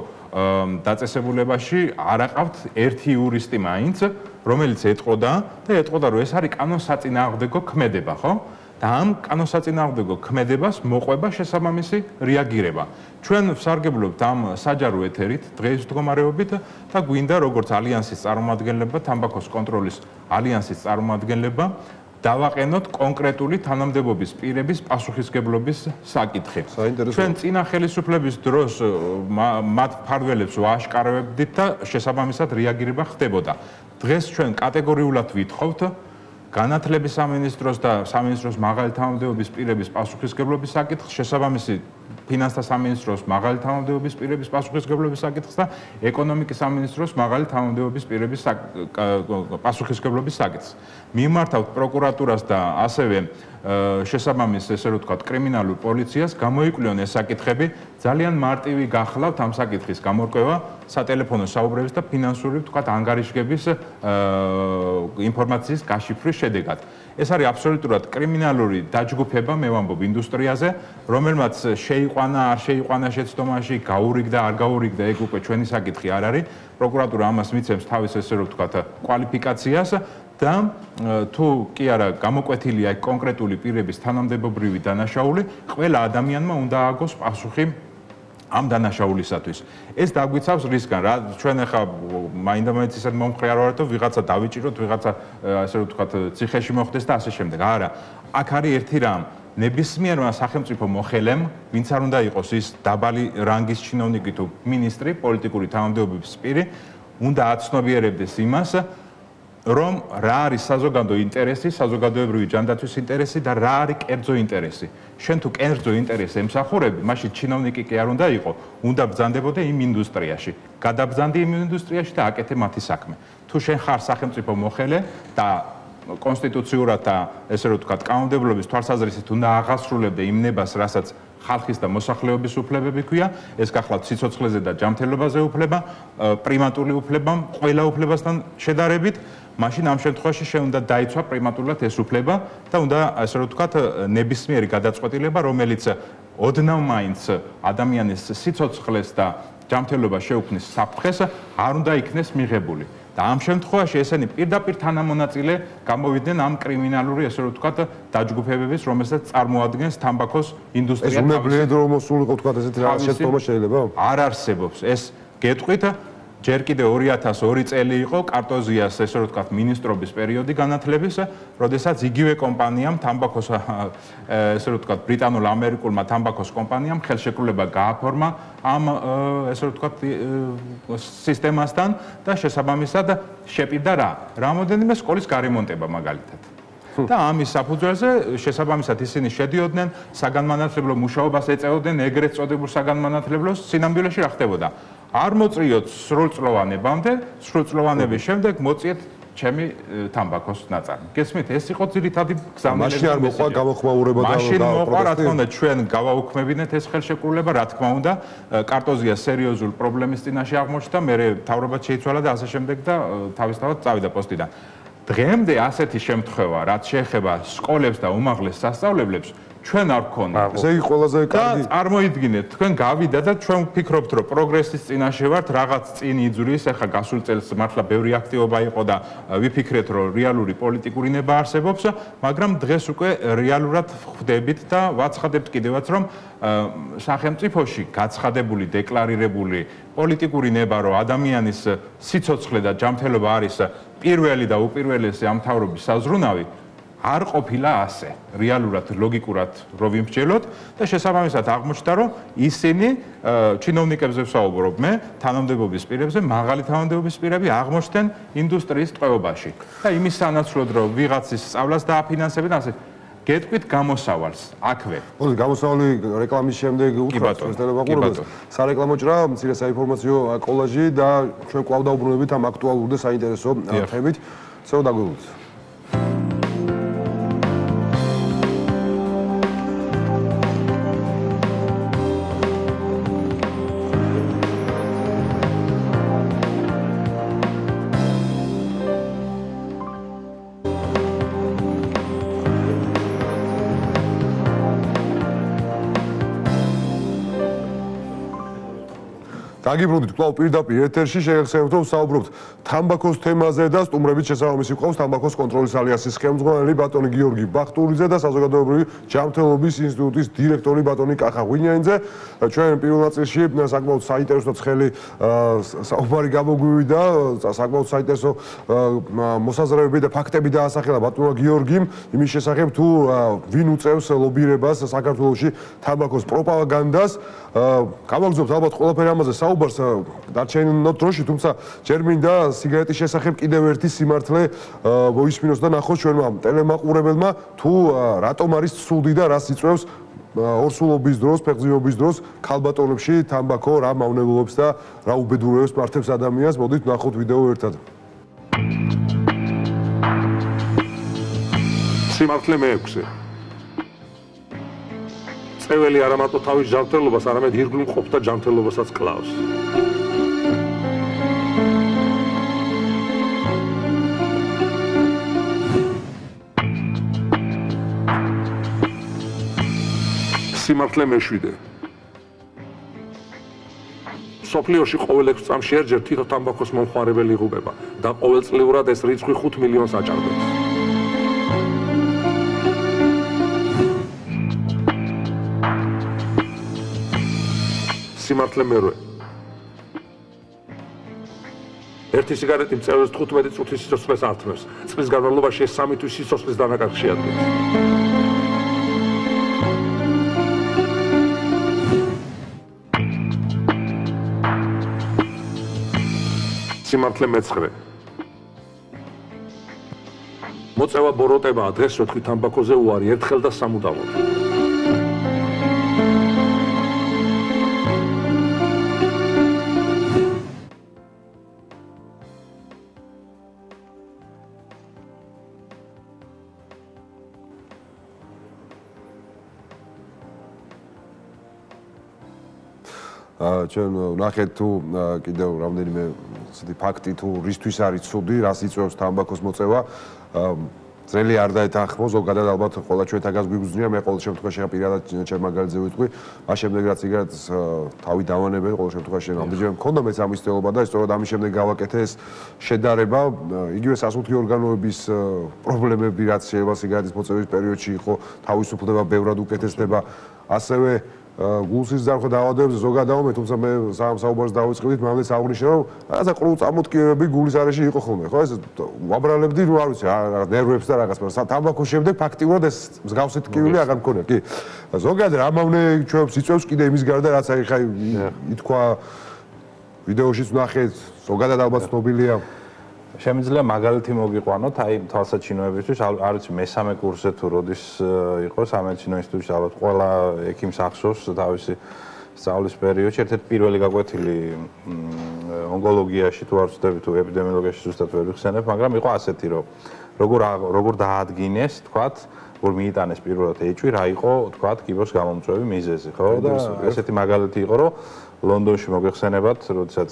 დაწესებულებაში არ აყავთ ერთი იურისტი მაინც, რომელიც ეტყოდა და ეტყოდა, რომ ეს არის კანონსაწინააღმდეგო ქმედება, ხო? და ამ კანონსაწინააღმდეგო ქმედებას მოყვება შესაბამისი რეაგირება. ჩვენ ვსარგებლობთ ამ საჯარო ეთერით დღეს მდგომარეობით და გვინდა როგორც ალიანსის წარმომადგენლება, თამბაქოს კონტროლის ალიანსის წარმომადგენლება დავაყენოთ კონკრეტული თანამდებობის პირების პასუხისგებლობის საკითხი. ჩვენ წინა ხელისუფლების დროს მათ ფარველებს ვააშკარავებდით და შესაბამისად რეაგირება ხდებოდა. დღეს ჩვენ კატეგორიულად ვითხოვთ განათლების სამინისტროს და სამინისტროს მაღალი თანამდებობის პირების პასუხისგებლობის საკითხს, შესაბამისი ფინანსთა სამინისტროს მაღალი თანამდებობის პირების პასუხისგებლობის საკითხს და ეკონომიკის სამინისტროს მაღალი თანამდებობის პირების პასუხისგებლობის საკითხს. მიმართავთ პროკურატურას და ასევე შესაბამის, ესე რომ ვთქვათ, კრიმინალურ პოლიციას გამოიკვლიონ ეს საკითხები, ძალიან მარტივი გახლავთ ამ საკითხის გამორკვევა, სატელეფონო საუბრების და ფინანსური, ვთქვათ, ანგარიშგების ინფორმაციის გაშიფვრის შედეგად. ეს არის აბსოლუტურად კრიმინალური დაჯგუფება, მე ვამბობ, ინდუსტრიაზე, რომელმაც შეიყვანა, არ შეიყვანა შეცდომაში, გაურიგდა, არ გაურიგდა, ეგ უკვე ჩვენი საკითხი არ არის. პროკურატურა ამას მიცემს თავის, ესე რომ ვთქვათ, კვალიფიკაციას და თუ კი არა გამოკვეთილია კონკრეტული პირების თანამდებობრივი დანაშაული, ყველა ადამიანმა უნდა ააგოს პასუხი ამ დანაშაულისათვის. ეს დაგვიცავს რისგან, რა ჩვენ ახლა მაინდა-მაინც ისეთ მომხრე არ ვართ, რომ ვიღაცა დავიჭიროთ, ვიღაცა ასე რომ ვთქვათ, ციხეში მოხდეს და ასე შემდეგ. არა, აქ არის ერთი რამ. ნებისმიერმა სახელმწიფო მოხელემ, ვინც არ უნდა იყოს ის დაბალი რანგის ჩინოვნიკი თუ მინისტრი, პოლიტიკური თანამდებობის პირი, უნდა აცნობიერებდეს იმას, რომ რა არის საზოგადო ინტერესი, საზოგადოებრივი ჯანდაცვის ინტერესი და რა არის კერძო ინტერესი. შენ თუ კერძო ინტერესს ემსახურები, მაშინ ჩინოვნიკი კი არ უნდა იყო, უნდა ბრძანდებოდე იმ ინდუსტრიაში. გადაბრძანდი იმ ინდუსტრიაში და აკეთე მათი საქმე. თუ შენ ხარ სახელმწიფო მოხელე და კონსტიტუციურად და ესე რომ ვთქვათ, კანონმდებლობის თვალსაზრისით უნდა აღასრულებდე იმ ნებას, რასაც ხალხის და მოსახლეობის უფლებები ქვია, ეს გახლავთ სიცოცხლეზე და ჯანმრთელობაზე უფლება, პრიმატული უფლება, ყველა უფლებასთან შედარებით, მაშინ ამ შემთხვევაში შენ უნდა დაიცვა პრიმატულად ეს უფლება და უნდა ასე რომ ვთქვათ, ნებისმიერი გადაწყვეტილება, რომელიც ოდნავ მაინც ადამიანის სიცოცხლეს და ჯანმრთელობას შეუქმნის საფრთხეს, არ უნდა იქნეს მიღებული. და ამ შემთხვევაში ესენი პირდაპირ თანამონაწილე გამოვიდნენ ამ კრიმინალური, ესე რომ ვთქვათ, დაჯგუფებების, რომელსაც წარმოადგენს თამბაქოს ინდუსტრია. ეს უნებლიეთ რომ მოსულიყო, ვთქვათ, ესეთი რა შეცდომა შეიძლება? არ არსებობს. ეს გეტყვით ჯერ კიდე 2002 წელი იყო კარტოზიას ესე რომ ვთქვათ მინისტრობის პერიოდი განათლების, როდესაც იგივე კომპანიამ თამბაქოს ესე რომ ვთქვათ ბრიტანულ-ამერიკულმა თამბაქოს კომპანიამ ხელშეკრულება გააფორმა ამ ესე რომ ვთქვათ სისტემასთან და შესაბამისად შეპირდა რამოდენიმე სკოლის გარემონტება მაგალითად. და ამის საფუძველზე შესაბამისად ისინი შედიოდნენ საგანმანათლებლო მუშაობას ეწეოდნენ ეგრეთ წოდებულ საგანმანათლებლოს სინამდვილეში რა ხდებოდა არ მოწრიოთ სრულწლოვანებამდე სრულწლოვანების შემდეგ მოწიეთ ჩემი თამბაქოს ნაწარმი გესმით ეს იყო ძირითადი გზავნილება მაშინ არ მოყვა გამოხმაურება და მაშინ მოყვა რა თქმა უნდა ჩვენ გავაუქმებინეთ ეს ხელშეკრულება რა თქმა უნდა კარტოზია სერიოზულ პრობლემის წინაშე აღმოჩნდა მე თავრობაც შეიცვალა და ასე შემდეგ და თავისთავად წავიდა პოსტიდან დღემდე ასეთი შემთხვევა, რაც შეეხება სკოლებს და უმაღლეს სასწავლებლებს, ჩვენ არ გქონდა. ესე იგი ყველაზე კარგი. წარმოიდგინეთ, თქვენ გავიდა და ჩვენ ვფიქრობთ, რომ პროგრესის წინაშე ვართ, რაღაც წინ იძuris, ახლა გასულ წელს მართლა ბევრი აქტივობა იყო და ვიფიქრეთ, რომ რეალური პოლიტიკური ნება არსებობს, მაგრამ დღეს უკვე რეალურად ხვდებით და ვაცხადებთ კიდევაც, რომ სახელმწიფოში გაცხადებული, დეკლარირებული პოლიტიკური ნება, რომ ადამიანის სიცოცხლე და ჯანმრთელობა არის პირველი და უპირველესი ამ მთავრობის საზრუნავი არ ყოფილა ასე რეალურად ლოგიკურად რო ვიმსჯელოთ და შესაბამისად აღმოჩნდა რომ ისინი ჩინოვნიკებზე ვსაუბრობ მე თანამდებობის პირებზე მაღალი თანამდებობის პირები აღმოჩნდნენ ინდუსტრიის ტყვეობაში და იმის სანაცვლოდ რომ ვიღაცის სწავლას დააფინანსებენ ასე გეტყვით გამოსავალს აქვე მოდი გამოსავალი რეკლამის შემდეგ უთხრათ ტელემაყურებელს სარეკლამო ჭრა მცირე საინფორმაციო კოლაჟი და ჩვენ კვლავ დაუბრუნდებით ამ აქტუალურ და საინტერესო თემით ცოტა დაგვეულოთ დაგიბრუნდით კვლავ პირდაპირ ეთერში შეგახსენებთ რომ საუბრობთ თამბაქოს თემაზე და სტუმრებით შესაბამისი ყავს თამბაქოს კონტროლის ალიანსის ხელმძღვანელი ბატონი გიორგი ბახტურიძე და საზოგადოებრივი ჯანმრთელობის ინსტიტუტის დირექტორი ბატონი კახა ღვინიანიძე ჩვენ პირველ ნაწილში საკმაოდ საინტერესო ცხელი საუბარი გამოგვივიდა საკმაოდ საინტერესო მოსაზრებები და ფაქტები დაასახელა ბატონმა გიორგიმ იმის შესახებ თუ ვინ უწევს ლობირებას საქართველოში თამბაქოს პროპაგანდას გავაგზავნებთ ალბათ ყველაფერი ამაზე საუბარს დარჩენილ დროში, თუმცა ჯერ მინდა სიგარეტის შესახებ კიდევ ერთი სიმართლე მოისმინოს და ნახოს ჩვენმა ტელემაყურებელმა თუ რატომ არის ცუდი და რას იწვევს ორსულობის დროს, ფეხმძიმეობის დროს ქალბატონებში თამბაქო რა მავნებლობს და რა უბედურებებს მართებს ადამიანს. მოდით ნახოთ ვიდეო ერთად. სიმართლე მე-6 წეველი არა მარტო თავის ჯანმრთელობას, არამედ ირგვლივ მყოფთა ჯანმრთელობასაც კლავს. სიმართლე მე-7 სოფლიოში ყოველ 6 წამში ერთჯერ თითო თამბაქოს მომხმარებელი იღუპება და ყოველწლიურად ეს რიცხვი 5 მილიონს აჭარბებს. სიმართლე მე-8 ერთი სიგარეტი მწევრის 15 წუთის სიცოცხლეს ართმევს. წლის განმავლობაში ეს 3 თვის სიცოცხლის დანაკარგს შეადგენს. სიმართლე მე-9 მოწევა ბოროტებაა დღეს რო თქვი თამბაქოზე უარი ერთხელ და სამუდამოდ. ჩვენ ნახეთ თუ კიდევ რამდენიმე ასეთი ფაქტი თუ რისთვის არის ცუდი, რას იწვევს თამბაქოს მოწევა. ძნელი არ დაეთანხმო, ზოგადად ალბათ ყველა ჩვენთაგან გვიგზნია, მე ყოველ შემთხვევაში პირადად ჩემაგალზე ვიტყვი, მას შემდეგ რაც სიგარეტს თავი დავანებენ, ყოველ შემთხვევაში ამდენჯერ მქონდა მეც ამის ცდელობა და სწორედ ამის შემდეგ გავაკეთე ეს შედარება, იგივე სასუნთქი ორგანოების პრობლემები, რაც შეიძლება სიგარეტის მოწევის პერიოდში იყო, თავისუფლდება ბევრად უკეთესდება, ასევე გულსის ძარღვა დაავადებებზე ზოგადად დავამე, თუმცა მე საუბარს დავიწყებდით, მამლეც აღნიშნა, რომ რაღაცა ყრუწამოტკიებები გულის არეში იყო ხოლმე, ხო? ეს ვაბრალებდი, რა ვიცი, ნერვებს და რაღაც, მაგრამ თამბაქოს შემდეგ ფაქტიურად ეს მსგავსი ტკივილი აღარ მქონია, კი. ზოგადად რამავნე ჩვენს იწევს კიდე იმის გარდა, რაც აი ხაი ითქვა ვიდეოშიც ვნახეთ, ზოგადად ალბათ ცნობილია. შემიძლია მაგალითი მოგიყვანოთ, აი თვალსაჩინოებისთვის, არ ვიცი მესამე კურსზე თუ როდის იყო სამედიცინო ინსტიტუტში, ალბათ ყველა ექიმს ახსოვს თავისი სწავლის პერიოდში, ერთ-ერთი პირველი გაკვეთილი ონკოლოგიაში თუ არ ვცდები თუ ეპიდემიოლოგიაში ზუსტად ვერ ვიხსენებ, მაგრამ იყო ასეთი, რომ როგორ დაადგინეს, თქვათ, როგორ მიიტანეს პირველად ეჭვი, რა იყო, თქვათ, კიბოს გამომწვევი მიზეზი, ხო? და ესეთი მაგალითი იყო, რომ ლონდონში მოგეხსენებათ, როდესაც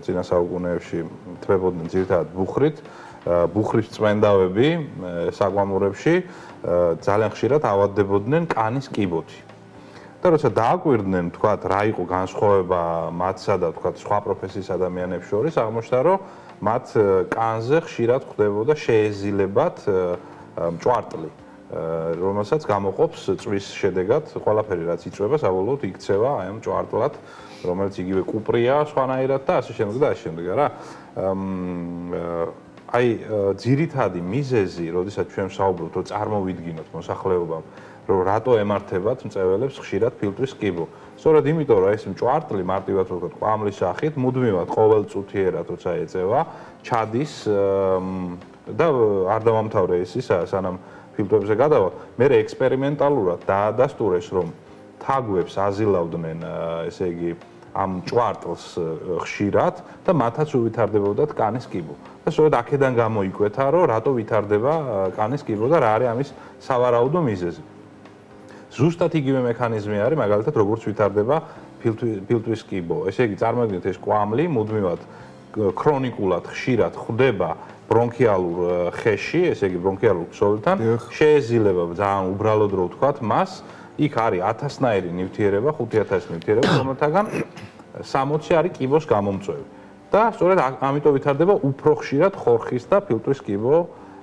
წინა საუკუნეებში თვებოდნენ ძირითადად ბუხრის წვენდავები საკვამურებში ძალიან ხშირად ავადდებოდნენ კანის კიბოთი. და როცა დააკვირდნენ, თქვათ, რა იყო განსხვავება მათსა და თქვათ სხვა პროფესიის ადამიანებს შორის, აღმოჩნდა, რომ მათ კანზე ხშირად ხდებოდა შეეზილებათ მჭვარტლი, რომელსაც გამოყოფს წვის შედეგად ყველაფერი, რაც იწვება, საბოლოოდ იქცევა აი ამ მჭვარტლად, რომელიც იგივე კუპრია სხვანაირად და ასე შემდეგ და ასე შემდეგ, რა. აი ძირითადი მიზეზი, როდესაც ჩვენ ვსაუბრობთ, რომ წარმოვიდგინოთ მოსახლეობამ, რომ რატო ემართებათ მწველებს ხშირად ფილტვის კიბო. სწორედ იმიტომ, რომ ეს მჭვარტლი მარტივად ვთქვათ, კვამლის სახით, მუდმივად ყოველწუთიერად როცა ეწევა, ჩადის და არ დავამთავრე ის სანამ ფილტვებზე გადავალ, მე ექსპერიმენტალურად დაადასტურეს, რომ თაგვებს აზილავდნენ, ესე იგი, ამ ჭვარტლს ხშირად და მათაც უვითარდებოდათ კანის კიბო. და სწორედ აქედან გამოიკვეთა, რომ რატო ვითარდება კანის კიბო და რა არის ამის სავარაუდო მიზეზი. ზუსტად იგივე მექანიზმი არის, მაგალითად, როგორც ვითარდება ფილტვის კიბო. ესე იგი, წარმოიდგინეთ, ეს კვამლი მუდმივად ქრონიკულად ხშირად ხვდება ბრონქიალურ ხეში, ესე იგი, ბრონქიალურ ქსოვილთან, შეეზილება ძალიან უბრალოდ რო ვთქვათ, მას იქ არის 1000-ნაირი ნივთიერება, 5000 ნივთიერება, რომელთაგან 60 არის კიბოს გამომწვევი. და სწორედ ამიტომ ვითარდება უფრო ხშირად ხორხის და ფილტვის კიბო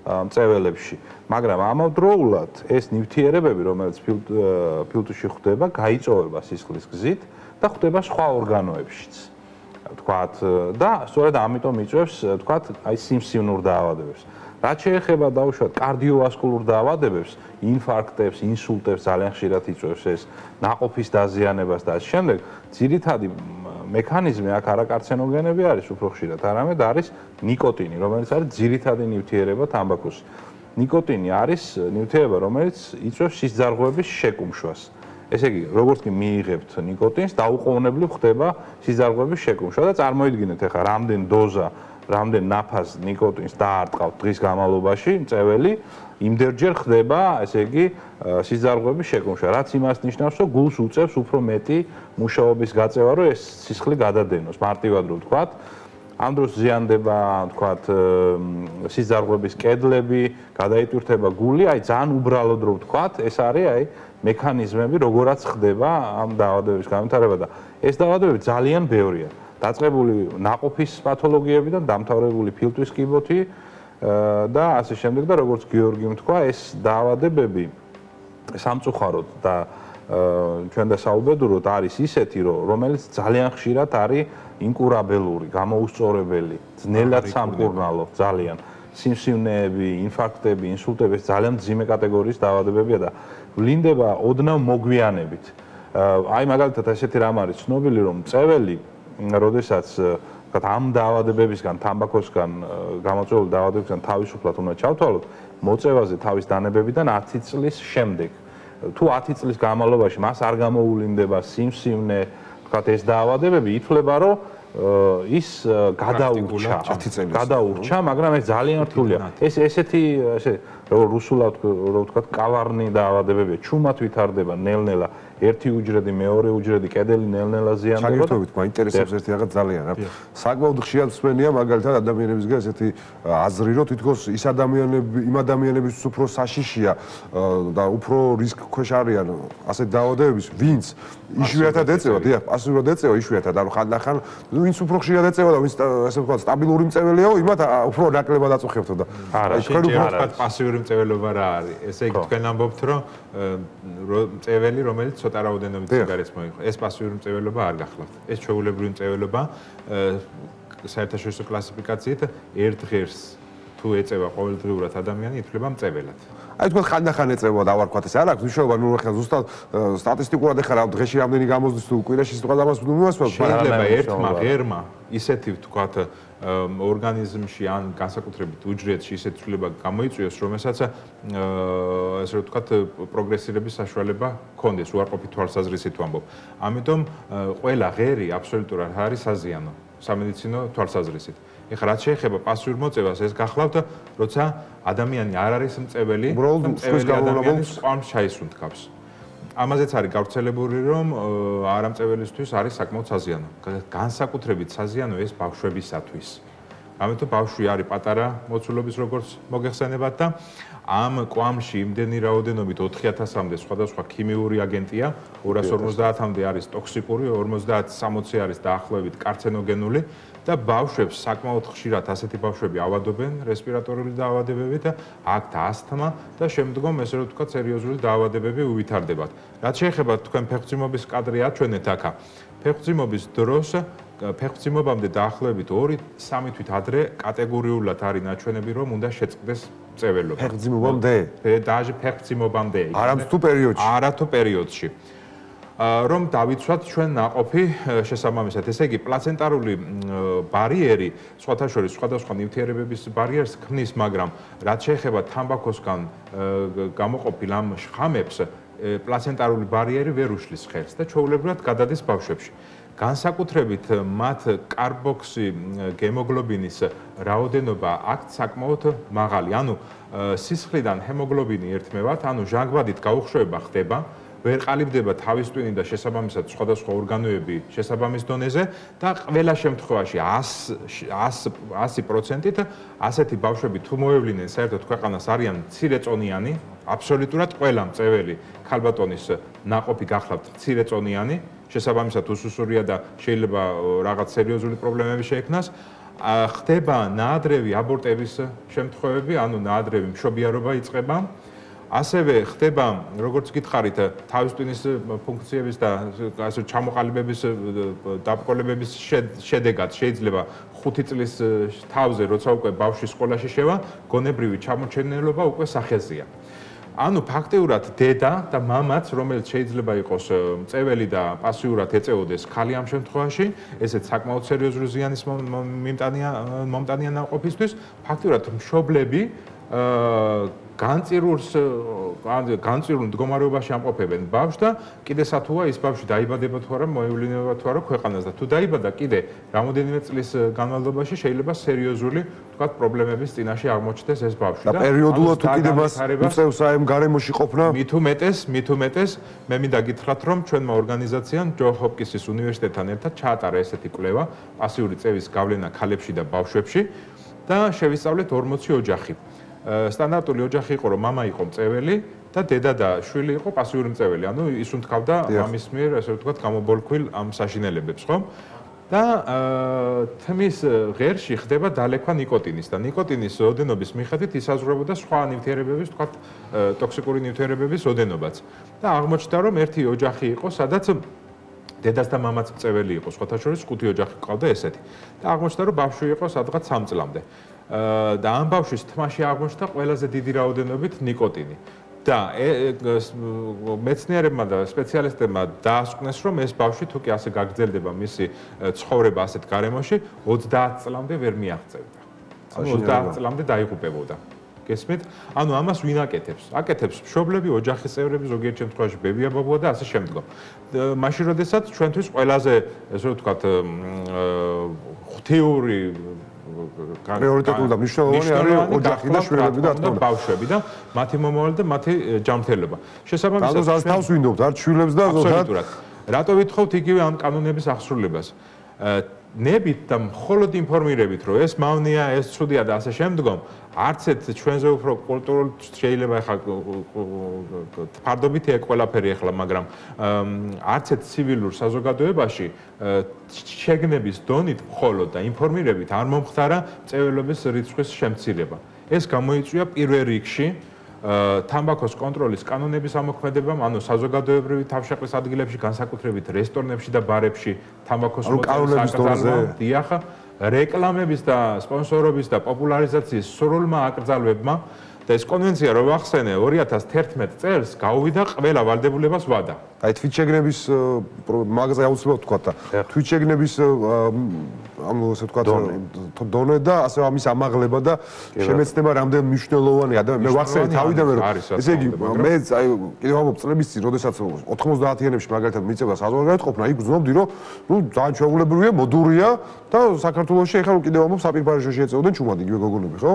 მწველებში. მაგრამ ამავდროულად ეს ნივთიერებები, რომელიც ფილტვში ხდება, გაიწოვება სისხლის გზით და ხდება სხვა ორგანოებშიც. თქვათ და სწორედ ამიტომ იწვევს, თქვათ, აი სიმსივნურ დაავადებებს. რაც შეეხება დაუშვათ კარდიოვასკულურ დაავადებებს, ინფარქტებს, ინსულტებს ძალიან ხშირად იწვევს ეს ნაყოფის დაზიანებას და ასე შემდეგ. ძირითადი მექანიზმი აქ არაკარცენოგენები არის უფრო ხშირად, არამედ არის ნიკოტინი, რომელიც არის ძირითადი ნივთიერება თამბაქოს. ნიკოტინი არის ნივთიერება, რომელიც იწვევს სისხლძარღვების შეკუმშვას. ესე იგი, როგორც კი მიიღებთ ნიკოტინს, დაუყოვნებლივ ხდება სისხლძარღვების შეკუმშვა და წარმოიდგინეთ ახლა რამდენ დოზა, რამდენ ნაფას ნიკოტინს დაარტყავთ დღის განმავლობაში, მწველი იმდენჯერ ხდება, ესე იგი, სისხლძარღვების შეკუმშვა, რაც იმას ნიშნავს, რომ გულს უწევს უფრო მეტი მუშაობის გაწევა, რომ ეს სისხლი გადადენოს, მარტივად რო ვთქვათ. ამ დროს ზიანდება, თქვათ, სისხლძარღვების კედლები, გადაიტვირთება გული, აი ძალიან უბრალოდ რო ვთქვათ, ეს არის აი მექანიზმები, როგორაც ხდება ამ დაავადებების განვითარება და ეს დაავადებები ძალიან ბევრია. დაწყებული ნაყოფის პათოლოგიებიდან, დამთავრებული ფილტვის კიბოთი და ასე შემდეგ და როგორც გიორგიმ თქვა, ეს დაავადებები სამწუხაროდ და ჩვენ დასაუბედუროთ არის ისეთი, რომელიც ძალიან ხშირად არის ინკურაბელური, გამოუსწორებელი, ძნელად სამკურნალო, ძალიან სიმსივნეები, ინფარქტები, ინსულტები ძალიან მძიმე კატეგორიის დაავადებებია და ვლინდება ოდნავ მოგვიანებით. აი მაგალითად ესეთი რამ არის ცნობილი, რომ მწველი როდესაც ამ დაავადებებისგან, თამბაქოსგან გამოწვეული დაავადებებისგან თავისუფლად უნდა ჩავთვალოთ, მოწევაზე თავის დანებებიდან 10 წლის შემდეგ. თუ 10 წლის განმავლობაში მას არ გამოულინდება სიმსივნე, თქვათ ეს დაავადებები, ითვლება, რომ ის გადაურჩა, მაგრამ ეს ძალიან რთულია. ეს ესეთი, როგორც რუსულად რო ვთქვათ, კავარნი დაავადებებია, ჩუმად ვითარდება ნელ-ნელა. ერთი უჯრედი, მეორე უჯრედი, კედელი ნელ-ნელა ზიანდება. ჩაგერთვებით, მაინტერესებს ერთი რაღაც ძალიან რა. საკმაოდ ხშირად მსმენია მაგალითად ადამიანებისგან ესეთი აზრი, რომ თითქოს იმ ადამიანების უფრო საშიშია და უფრო რისკ ქვეშ არიან ასეთ დაავადებების, ვინც იშვიათად ეწევა, დიახ, პასიურად ეწევა იშვიათად, ანუ ხანდახან ვინც უფრო ხშირად ეწევა და ვინც ასე ვთქვათ, სტაბილური მწველიაო, იმათ უფრო ნაკლებად აწუხებთ და არა, ჩვენ ვთქვათ პასიური მწველობა რა არის. ესე იგი თქვენ ამბობთ, რომ მწველი, რომელიც ცოტა რაოდენობით სიგარეტს მოიღო. ეს პასიური მწვეველობა არ გახლავთ. ეს ჩვეულებრივი მწვეველობა საერთაშორისო კლასიფიკაციით ერთ ღერს თუ ეწევა ყოველდღიურად ადამიანი, ითვლება მწვეველად. აი თქვენ ხანდახან ეწევა და ვარ თქვათ ეს არ აქვს მნიშვნელობა, ნუ ახლა ზუსტად სტატისტიკურად ეხლა დღეში რამდენი გამოსდის თუ კვირაში სიტყვა ამას მიმასვლა შეიძლება ერთმა ღერმა ისეთი ვთქვათ ორგანიზმში ან განსაკუთრებით უჯრედში ისეთი ცვლილება გამოიწვიოს, რომელსაც ესე ვთქვათ პროგრესირების საშუალება ჰქონდეს, უარყოფით თვალსაზრისით ვამბობ. ამიტომ ყველა ღერი აბსოლუტურად არის საზიანო სამედიცინო თვალსაზრისით. ეხლა რაც შეეხება პასიურ მოწევას, ეს გახლავთ, როცა ადამიანი არ არის მწეველი, მწეველი ადამიანის ყვამს ჩაისუნთქავს. ამაზეც არის გავრცელებული, რომ არამწეველისთვის არის საკმაოდ საზიანო. განსაკუთრებით საზიანო ეს ბავშვებისათვის. ამიტომ ბავშვი არის პატარა მოცულობის როგორც მოგეხსენებათ და ამ კვამში იმდენი რაოდენობით 4000-მდე სხვადასხვა ქიმიური აგენტია, 250-მდე არის ტოქსიკური, 50-60 არის დაახლოებით კარცენოგენული და ბავშვებს საკმაოდ ხშირად ასეთი ბავშვები ავადობენ რესპირატორული დაავადებებით და აქვთ ასთმა და შემდგომ ესე რომ ვთქვათ სერიოზული დაავადებები უვითარდებათ. რაც შეეხება თქვენ ფეხმძიმობის კადრი აჩვენეთ აქა. ფეხმძიმობის დროს ფეხმძიმობამდე დაახლოებით 2-3 თვით ადრე კატეგორიულად არის ნაჩვენები, რომ უნდა შეწყდეს მწვეველობა. ფეხმძიმობამდე? დაჟე ფეხმძიმობამდე. არამტუ პერიოდში. არათუ პერიოდში. რომ დავიცვათ ჩვენ ნაყოფი შესაბამისად. ესე იგი, პლაცენტარული ბარიერი, სხვათა შორის სხვადასხვა ნივთიერებების ბარიერს ქმნის, მაგრამ რაც შეეხება თამბაქოსგან გამოყოფილ ამ შხამებს, პლაცენტარული ბარიერი ვერ უშლის ხელს და ჩვეულებრივად გადადის ბავშვებში. განსაკუთრებით მათ კარბოქსი გემოგლობინის რაოდენობა აქვთ საკმაოდ მაღალი. ანუ სისხლიდან ჰემოგლობინი ერთმევად, ანუ ჟანგბადით გაუხშოება ხდება, ვერ ყალიბდება თავის ტვინი და შესაბამისად სხვადასხვა ორგანოები შესაბამის დონეზე და ყველა შემთხვევაში 100%-ით ასეთი ბავშვები თუ მოევლინენ საერთოდ ქვეყანას არიან მცირეწონიანი, აბსოლუტურად ყველა მწეველი ქალბატონის ნაყოფი გახლავთ მცირეწონიანი, შესაბამისად უსუსურია და შეიძლება რაღაც სერიოზული პრობლემები შეექმნას. ხდება ნაადრევი აბორტების შემთხვევები, ანუ ნაადრევი მშობიარობა იწყება. ასევე ხდება, როგორც გითხარით, თავის ტვინის ფუნქციების და ასე ჩამოყალიბების დაბრკოლებების შედეგად შეიძლება 5 წლის თავზე, როცა უკვე ბავშვი სკოლაში შევა, გონებრივი ჩამოჩენილობა უკვე სახეზეა. ანუ ფაქტიურად დედა და მამაც, რომელიც შეიძლება იყოს მწეველი და პასიურად ეწეოდეს ქალი ამ შემთხვევაში, ესეც საკმაოდ სერიოზული ზიანის მომტანია ნაყოფისთვის, ფაქტიურად მშობლები განწირულ მდგომარეობაში ამყოფებენ ბავშვს და კიდე სათუა ის ბავშვი დაიბადება თუ არა, მოევლინება თუ არა ქვეყანას და თუ დაიბადა კიდე რამოდენიმე წლის განმავლობაში შეიძლება სერიოზული, ვთქვათ, პრობლემების წინაშე აღმოჩნდეს ეს ბავშვი და პერიოდულად თუ კიდე მას უწევს აი ამ გარემოში ყოფნა? მით უმეტეს, მე მინდა გითხრათ, რომ ჩვენმა ორგანიზაციამ ჯონ ჰოპკინსის უნივერსიტეტთან ერთად ჩაატარა ესეთი კვლევა პასიური წევის გავლენა ქალებში და ბავშვებში და შევისწავლეთ 40 ოჯახი. სტანდარტული ოჯახი იყო, რომ მამა იყო მწეველი და დედა და შვილი იყო პასიური მწეველი. ანუ ისუნთქავდა მამის მიერ, ასე ვთქვათ, გამობოლქვილ ამ საშინელებებს, ხო? და თმის ღერში ხდება დალექვა ნიკოტინის და ნიკოტინის ოდენობის მიხედვით ისაზღვრებოდა სხვა ნივთიერებების, ვთქვათ, ტოქსიკური ნივთიერებების ოდენობაც. და აღმოჩნდა, რომ ერთი ოჯახი იყო, სადაც დედას და მამაც მწეველი იყო, სხვათა შორის 5 ოჯახი ყავდა ესეთი. და აღმოჩნდა, რომ ბავშვი იყო სადღაც 3 წლამდე. და ამ ბავშვის თმაში აღმოჩნდა ყველაზე დიდი რაოდენობით ნიკოტინი. და მეცნიერებმა და სპეციალისტებმა დაასკვნეს, რომ ეს ბავშვი თუ კი ასე გაგრძელდება მისი ცხოვრება ასეთ გარემოში, 30 წლამდე ვერ მიაღწევდა. 30 წლამდე დაიღუპებოდა. გესმით? ანუ ამას ვინ აკეთებს? აკეთებს მშობლები, ოჯახის წევრები, ზოგიერთ შემთხვევაში ბებია-ბაბუა და ასე შემდგომ. მაშინ როდესაც ჩვენთვის ყველაზე, ესე ვთქვათ, ღვთიური პრიორიტეტული და მნიშვნელოვანი არის ოჯახი და შვილები და ბავშვები და მათი მომავალი და მათი ჯანმრთელობა. შესაბამისად, თავს ვინდობთ, არ შვილებს და ზოგადად. რატო ვითხოვთ იგივე ამ კანონების აღსრულებას? ნებით და მხოლოდ ინფორმირებით, რომ ეს მავნია, ეს ცუდია და ასე შემდგომ, არც ერთ ჩვენზე უფრო კულტურულ შეიძლება ახლა ფარდობითია ყველაფერი ახლა, მაგრამ არც ერთ ცივილურ საზოგადოებაში შეგნების დონით მხოლოდ და ინფორმირებით არ მომხდარა მწვერვალების რიცხვის შემცირება. ეს გამოიწვია პირველ რიგში თამბაქოს კონტროლის კანონების ამოქმედებამ, ანუ საზოგადოებრივი თავშეყრის ადგილებში, განსაკუთრებით რესტორნებში და ბარებში თამბაქოს მოწმობის აკრძალვამ, დიახ, რეკლამების და სპონსორობის და პოპულარიზაციის სრულმა აკრძალვებმა და ეს კონვენცია რო ვახსენე 2011 წელს გაუვიდა ყველა ვალდებულებას ვადა. აი თვითშეგნების მაგაზე აუცილებლად ვთქვა და თვითშეგნების ანუ ასე ვთქვა დონე და ასე ამის ამაღლება და შემეცნება რამდენ მნიშვნელოვანია და მე ვახსენე თავიდანვე რომ ესე იგი მე აი კიდევ ამბობ წლების წინ როდესაც 90-იანებში მაგალითად მიწება საზღვარგარეთ ყოფნა იქ ვზნობდი რომ ნუ ძალიან ჩვეულებრივია მოდურია და საქართველოში ეხლა კიდევ ამბობ საპირფარეშო შეეწევდნენ ჩუმად იგივე გოგონები ხო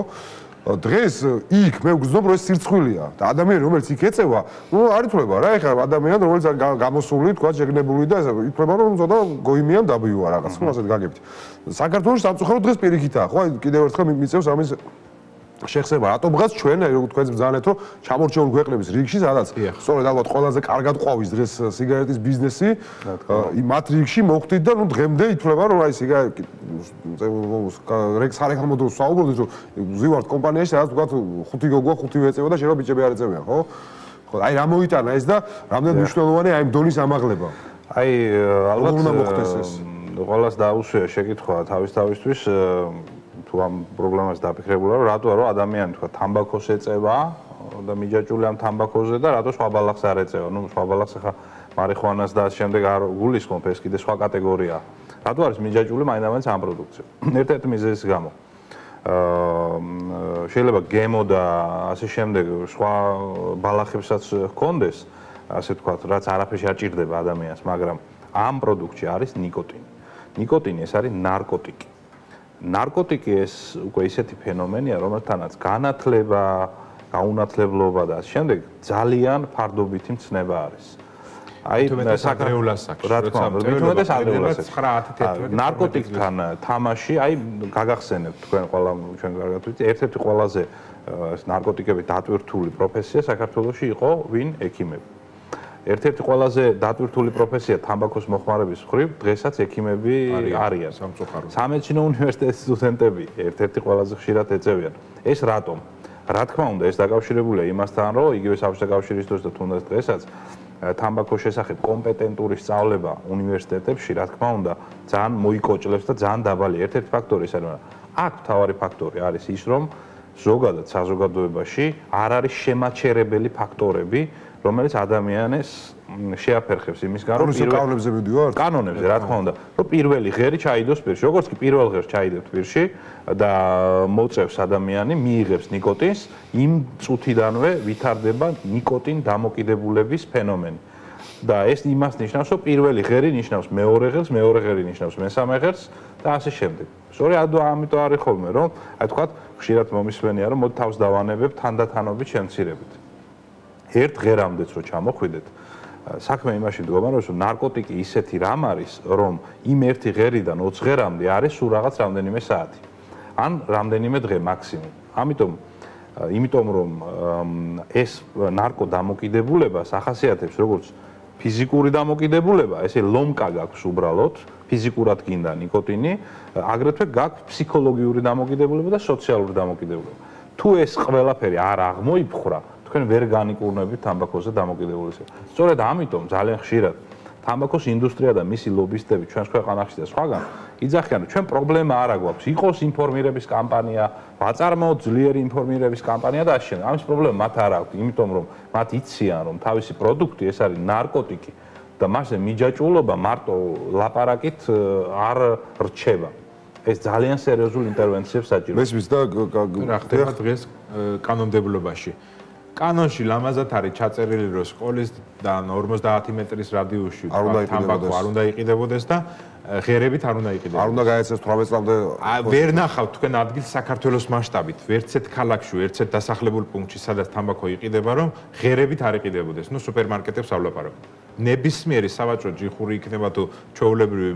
დღეს იქ მე ვგრძნობ რომ ეს სირცხვილია და ადამიანი რომელიც იქ ეწევა ნუ არ ითვლება რა ეხლა ადამიანი რომელიც გამოსული თქვა შეგნებული და ითვლება რომ ზოდა გოიმიან დაბიოა რაღაც ხო ასეთ გაგებით საქართველოს სამწუხაროდ დღეს პირიქითაა ხო კიდევ ერთხელ მიწევს ამის შეხსება რატომღაც ჩვენ როგორც თქვენს ბრძანეთ რომ ჩამორჩეული ქვეყნების რიგში სადაც სწორედ ალბათ ყველაზე კარგად ყვავის დღეს სიგარეტის ბიზნესი მათ რიგში მოხდით და ნუ დღემდე ითვლება რომ აი სიგარეტი სარეკლამო დროს საუბრობთ რომ ზივართ კომპანიაში სადაც თქვა 5 გოგოა 5 ეწევა და შეიძლება ბიჭები არ ეწევიან ხო ხო აი რა მოიტანა ეს და რამდენ მნიშვნელოვანია აი დონის ამაღლება აი ალბათ უნდა მოხდეს ეს ყველას დაუსვია შეკითხვა თავისთავისთვის თუ ამ პრობლემას დაფიქრებულა რომ რატოა რომ ადამიანი თქვა თამბაქოს ეწევა და მიჯაჭული ამ თამბაქოზე და რატო სხვა ბალახს არ ეწევა ნუ სხვა ბალახს ახლა მარიხუანას და შემდეგ არ გულისხმობ ეს კიდე სხვა კატეგორიაა რატო არის მიჯაჭული მაინც ამ პროდუქცია ერთ-ერთი მიზეზის გამო შეიძლება გემო და ასე შემდეგ სხვა ბალახებსაც ჰქონდეს ასე თქვა რაც არაფერში არ ჭირდება ადამიანს მაგრამ ამ პროდუქტში არის ნიკოტინი ნიკოტინი ეს არის ნარკოტიკი ნარკოტიკი ეს უკვე ისეთი ფენომენია, რომელთანაც განათლება, გაუნათლებლობა და შემდეგ ძალიან ფარდობითი მცნება არის. აი საკრეულას აქვს. რა თქმა უნდა, მithumetes ადრეულას. 9-10 ნარკოტიკთან თამაში, აი გაგახსენებთ თქვენ ყველა ჩვენ კარგად ვიცით, ერთ-ერთი ყველაზე ნარკოტიკებით დატვირთული პროფესია საქართველოში იყო ვინ ექიმები. ერთ-ერთი ყველაზე დატვირთული პროფესია თამბაქოს მოხმარების მხრივ დღესაც ექიმები არიან. სამედიცინო უნივერსიტეტის სტუდენტები ერთ-ერთი ყველაზე ხშირად ეწევიან. ეს რატომ? რა თქმა უნდა, ეს დაკავშირებულია იმასთან, რომ იგივე საბჭოთა კავშირის დროს და თუნდაც დღესაც თამბაქოს შესახებ კომპეტენტური სწავლება უნივერსიტეტებში, რა თქმა უნდა, ძალიან მოიკოჭლებს და ძალიან დაბალია. ერთ-ერთი ფაქტორი ის არის, აქ მთავარი ფაქტორი არის ის, რომ ზოგადად საზოგადოებაში არ არის შემაჩერებელი ფაქტორები რომელიც ადამიანს შეაფერხებს იმისგან რომ კანონებზე მიდივართ კანონებზე რა თქმა უნდა რომ პირველი ღერი ჩაიდოს პირში როგორც კი პირველ ღერს ჩაიდებთ პირში და მოწევს ადამიანი მიიღებს ნიკოტინს იმ წუთიდანვე ვითარდება ნიკოტინ დამოკიდებულების ფენომენი და ეს იმას ნიშნავს რომ პირველი ღერი ნიშნავს მეორე ღერს მეორე ღერი ნიშნავს მესამე ღერს და ასე შემდეგ სწორედ ამიტომ არის ხოლმე რომ აი თქვა ხშირად მომისმენია რომ მოდი თავს დავანებებ თანდათანობით შემცირებით ერთ ღერამდეც რო ჩამოხვიდეთ საქმე იმაში მდგომარეობს რომ ნარკოტიკი ისეთი რამ არის რომ იმ ერთი ღერიდან 20 ღერამდე არის სულ რაღაც რამდენიმე საათი ან რამდენიმე დღე მაქსიმუმ იმიტომ რომ ეს ნარკო დამოკიდებულებას ახასიათებს როგორც ფიზიკური დამოკიდებულება ესე ლომკა გაქვს უბრალოდ ფიზიკურად გინდა ნიკოტინი აგრეთვე გაქვს ფსიქოლოგიური დამოკიდებულება და სოციალური დამოკიდებულება თუ ეს ყველაფერი არ აღმოიფხვრა თქვენ ვერ განიკურნებით თამბაქოზე დამოკიდებულებას. სწორედ ამიტომ ძალიან ხშირად თამბაქოს ინდუსტრია და მისი ლობისტები ჩვენს ქვეყანაში და სხვაგან იძახიან რომ ჩვენ პრობლემა არ აგვაქვს. იყოს ინფორმირების კამპანია, ვაწარმოოთ ძლიერი ინფორმირების კამპანია და ასე შემდეგ. ამის პრობლემა მათ არ აქვს, იმიტომ რომ მათ იციან რომ თავისი პროდუქტი ეს არის ნარკოტიკი და მასზე მიჯაჭვულობა მარტო ლაპარაკით არ რჩება. ეს ძალიან სერიოზულ ინტერვენციებს საჭიროებს. მესმის და რა ხდება დღეს კანონმდებლობაში. კანონში ლამაზად არის ჩაწერილი რომ სკოლის და 50 მეტრის რადიუსში თამბაქო არ უნდა იყიდებოდეს და ღერებით არ უნდა იყიდებოდეს. არ უნდა გაეცეს 18 წლამდე. ვერ ნახავთ თქვენ ადგილს საქართველოს მასშტაბით, ვერცეთ ქალაქში, ვერცეთ დასახლებულ პუნქტში, სადაც თამბაქო იყიდება, რომ ღერებით არ იყიდებოდეს. ნუ სუპერმარკეტებსავლაპარაკობ. ნებისმიერი სავაჭრო ჯიხური იქნება თუ ჩვეულებრივი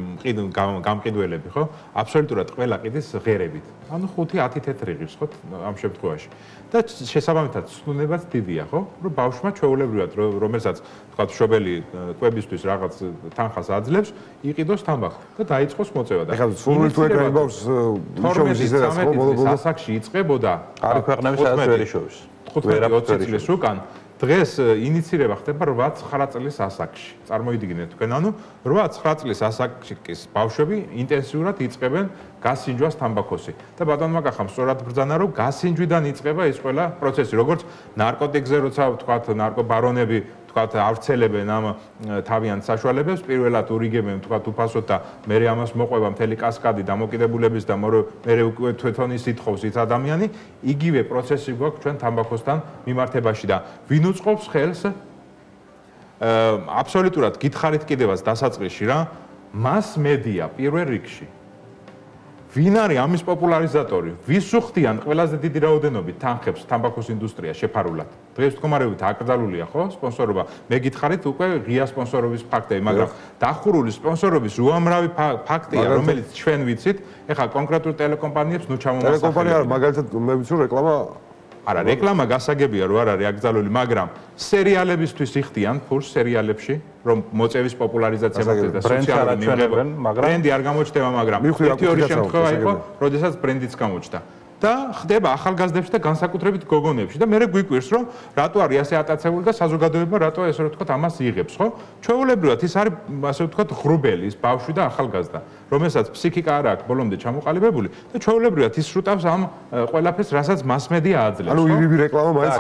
გამყიდველები, ხო? აბსოლუტურად ყველა ყიდის ღერებით. ანუ 5-10 თეთრი ღირს, ხო, ამ შემთხვევაში. და შესაბამისად ცნუნებაც დიდია, ხო? რომ ბავშვმა ჩვეულებრივად რომელსაც თქვა მშობელი კვებისთვის რაღაც თანხას აძლევს, იყიდოს თამბაქო და დაიწყოს მოწევა და ეხლა სულ თუ ეკრანი ბავშვს მშობლის ისედაც ხო ბოლო-ბოლო ასაკში იწყებოდა არის ქვეყნები სადაც ვერ იშოვის 15-20 წლის უკან დღეს ინიცირება ხდება 8-9 წლის ასაკში. წარმოიდგინეთ თქვენ, ანუ 8-9 წლის ასაკის ბავშვები ინტენსიურად იწყებენ გასინჯვას თამბაქოსი. და ბატონმა კახამ სწორად ბრძანა, რომ გასინჯვიდან იწყება ეს ყველა პროცესი, როგორც ნარკოტიკზე, როცა თქვათ ნარკობარონები ავრცელებენ ამ თავიანთ საშუალებებს, პირველად ურიგებენ თქვათ უფასოდ და მერე ამას მოყვება მთელი კასკადი დამოკიდებულების და მერე უკვე თვითონ ის ითხოვს ის ადამიანი, იგივე პროცესი გვაქვს ჩვენ თამბაქოსთან მიმართებაში და ვინ უწყობს ხელს აბსოლუტურად გითხარით კიდევაც დასაწყისში რა, მას მედია პირველ რიგში. ვინ არის ამის პოპულარიზატორი? ვის უხდიან ყველაზე დიდი რაოდენობით თანხებს თამბაქოს ინდუსტრია შეფარულად? დღეს მდგომარეობით აკრძალულია ხო სპონსორობა? მე გითხარით უკვე ღია სპონსორობის ფაქტები, მაგრამ დახურული სპონსორობის უამრავი ფაქტია, რომელიც ჩვენ ვიცით, ეხლა კონკრეტულ ტელეკომპანიებს ნუ ჩამომასახელებ. ტელეკომპანია არა, მაგალითად მე ვიცი რომ რეკლამა არა, რეკლამა გასაგებია რომ არ არის აკრძალული, მაგრამ სერიალებისთვის იხდიან ფულს სერიალებში, რომ მოწევის პოპულარიზაცია მოხდეს და სოციალური მიღება, ბრენდი არ გამოჩნდება, მაგრამ ერთი-ორი შემთხვევა იყო, როდესაც ბრენდიც გამოჩნდა. და ხდება ახალგაზრდებში და განსაკუთრებით გოგონებში და მე გვიკვირს რომ რატო არის ასე ატაცებული და საზოგადოება რატო ესე ვთქვათ ამას იღებს, ხო? ჩვეულებრივად ის არის ასე ვთქვათ ღრუბელი, ის ბავშვი და ახალგაზრდა, რომელსაც ფსიქიკა არ აქვს ბოლომდე ჩამოყალიბებული და ჩვეულებრივად ის შუტავს ამ ყველაფერს, რასაც მასმედია აძლევს. ანუ ირიბი რეკლამა მაინც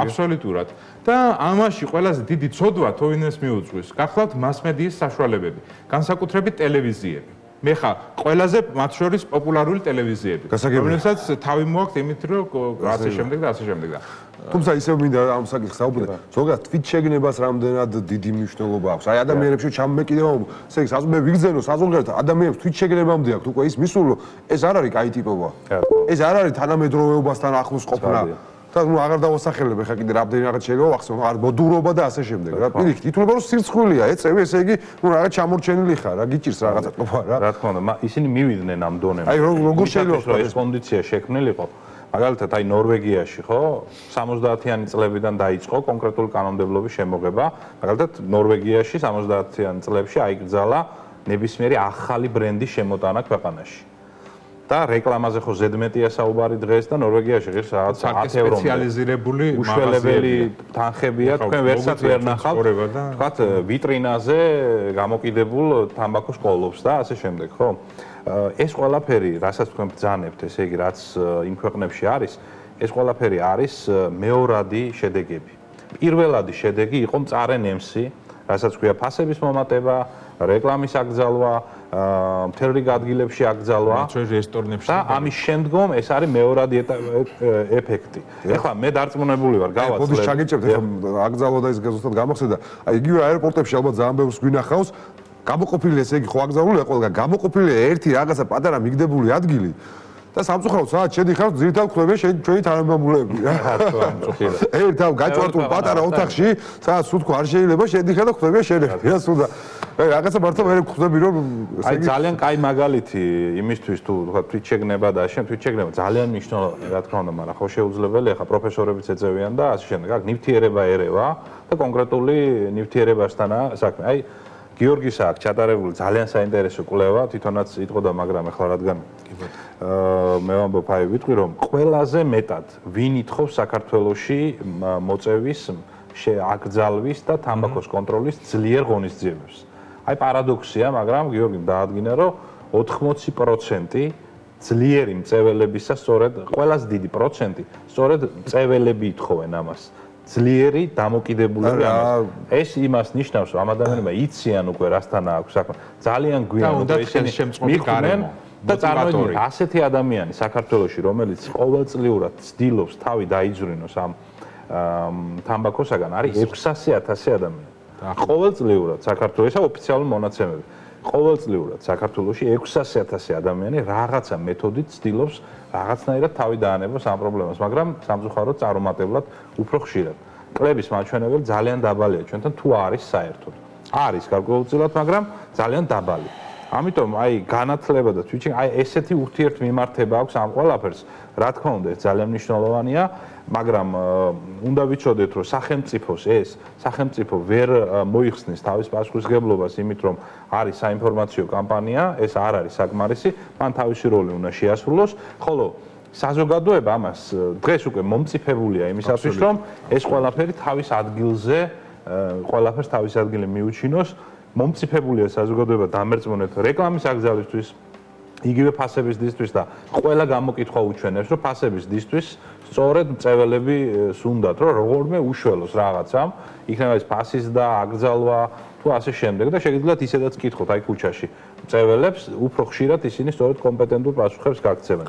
აბსოლუტურად. და ამაში ყველაზე დიდი ცოდვა თოვინეს მიუძღვის. გახლავთ მასმედიის საშუალებები, განსაკუთრებით ტელევიზიები. მე ხა ყველაზე მათ შორის პოპულარული ტელევიზიები, რომელსაც თავი მოაქვს იმით, რომ ასე შემდეგ და ასე შემდეგ და თუმცა ისევ მინდა ამ საკითხს საუბრობ, ზოგადად თვით შეგნებას რამდენად დიდი მნიშვნელობა აქვს. აი ადამიანებში ჩამმეკიდება, ესე იგი, მე ვიგზენო საზოგადოებრივ ადამიანებს თვით შეგნებამდე აქვს უკვე ის მისული, რომ ეს არ არის კაი ტიპობა. ეს არ არის თანამედროვეობასთან ახლოს ყოფნა. და ნუ აღარ დავასახელებ ახლა კიდე რამდენი რაღაც შეიძლება ვახსოვ, არ მოდურობა და ასე შემდეგ. რა პირიქით, ითვლება რომ სირცხვილია ეწევი, ესე იგი, ნუ რაღაც ჩამორჩენილი ხარ, რა გიჭირს რაღაცა ყოფა რა. რა თქმა უნდა, ისინი მივიდნენ ამ დონემდე. აი როგორ შეიძლება ეს კონდიცია შექმნილიყო? მაგალითად, აი ნორვეგიაში, ხო, 70-იანი წლებიდან დაიწყო კონკრეტული კანონმდებლობის შემოღება. მაგალითად, ნორვეგიაში 70-იანი წლებში აიკრძალა ნებისმიერი ახალი ბრენდის შემოტანა ქვეყანაში. და რეკლამაზე ხო ზედმეტია საუბარი დღეს და ნორვეგიაში ღირს რაღაც 10 ევრომდე სპეციალიზირებული უშველებელი თანხებია, თქვენ ვერსაც ვერ ნახავთ, თქვათ ვიტრინაზე გამოკიდებულ თამბაქოს კოლოფს და ასე შემდეგ, ხო? ეს ყველაფერი, რასაც თქვენ ბრძანებთ, ესე იგი, რაც იმ ქვეყნებში არის, ეს ყველაფერი არის მეორადი შედეგები. პირველადი შედეგი იყო მწარე ნემსი, რასაც ქვია ფასების მომატება, რეკლამის აკრძალვა, მთელ რიგ ადგილებში აკრძალვა და ამის შემდგომ ეს არის მეორადი ეფექტი. ეხლა მე დარწმუნებული ვარ, გავაცლებ. მოდი შეგეჭებთ, ეხლა აკრძალვა და ის ზუსტად გამოხსენდა. აი იგივე აეროპორტებში ალბათ ძალიან ბევრს გვინახავს, გამოყოფილი ესე იგი ხო აკრძალულია ყველგან, გამოყოფილია ერთი რაღაცა პატარა მიგდებული ადგილი. და სამწუხაროდ სადაც შედიხართ, ძირითადად ხვდება ჩვენი თანამემამულეები რა. ერთავ გაჭვარტულ პატარა ოთახში, სადაც სულ არ შეიძლება შედიხარ და ხვდება შენები. რა სულ და რაღაცა მართლა მე ხვდები რომ აი ძალიან კაი მაგალითი იმისთვის თუ თქვა თვით შეგნება და შენ თვით შეგნება ძალიან მნიშვნელოვანია რა თქმა უნდა, მაგრამ ხო შეუძლებელი ახლა პროფესორებიც ეწევიან და ასე შემდეგ. აქ ნივთიერება ერევა და კონკრეტული ნივთიერებასთანაა საქმე. აი გიორგის აქ ჩატარებული ძალიან საინტერესო კვლევა, თვითონაც იტყოდა, მაგრამ ახლა რადგან მე ვამბობ, აი ვიტყვი რომ ყველაზე მეტად ვინ ითხოვს საქართველოში მოწევის აკრძალვის და თამბაქოს კონტროლის ძლიერ ღონისძიებებს. აი პარადოქსია, მაგრამ გიორგი დაადგინა რომ 80% ძლიერი მწეველებისა სწორედ ყველაზე დიდი პროცენტი სწორედ მწეველები ითხოვენ ამას. ძლიერი დამოკიდებულები ამას. ეს იმას ნიშნავს, რომ ამ ადამიანებმა იციან უკვე რასთან აქვს საქმე. ძალიან გვიან უკვე ისინი მიხვდნენ და წარმოიდგინეთ ასეთი ადამიანი საქართველოში, რომელიც ყოველწლიურად ცდილობს თავი დაიძვრინოს ამ თამბაქოსაგან, არის 600,000 ადამიანი. ყოველწლიურად საქართველოს ოფიციალური მონაცემები. ყოველწლიურად საქართველოში 600,000 ადამიანი რაღაცა მეთოდით ცდილობს რაღაცნაირად თავი დაანებოს ამ პრობლემას, მაგრამ სამწუხაროდ წარუმატებლად უფრო ხშირად. კლების მაჩვენებელი ძალიან დაბალია ჩვენთან თუ არის საერთოდ. არის გარკვეულწილად, მაგრამ ძალიან დაბალი. ამიტომ აი განათლება და თვითონ აი ესეთი ურთიერთმიმართება აქვს ამ ყველაფერს. რა თქმა უნდა, ეს ძალიან მნიშვნელოვანია, მაგრამ უნდა ვიცოდეთ, რომ სახელმწიფო ვერ მოიხსნის თავის პასუხისმგებლობას იმით, რომ არის საინფორმაციო კამპანია, ეს არ არის საკმარისი, მან თავისი როლი უნდა შეასრულოს, ხოლო საზოგადოება ამას დღეს უკვე მომწიფებულია იმისათვის, რომ ეს ყველაფერი თავის ადგილზე, ყველაფერს თავის ადგილზე მიუჩინოს. მომწიფებულია საზოგადოება დამერწმუნეთ რეკლამის აკრძალვისთვის, იგივე ფასების დისთვის და ყველა გამოკითხვა უჩვენებს, რომ ფასების დისთვის სწორედ მწეველები სუნდათ, რომ როგორმე უშველოს რაღაცამ, იქნება ეს ფასის და აკრძალვა თუ ასე შემდეგ და შეგიძლიათ ისედაც კითხოთ აი ქუჩაში მწეველებს, უფრო ხშირად ისინი სწორედ კომპეტენტურ პასუხებს გაგცემენ.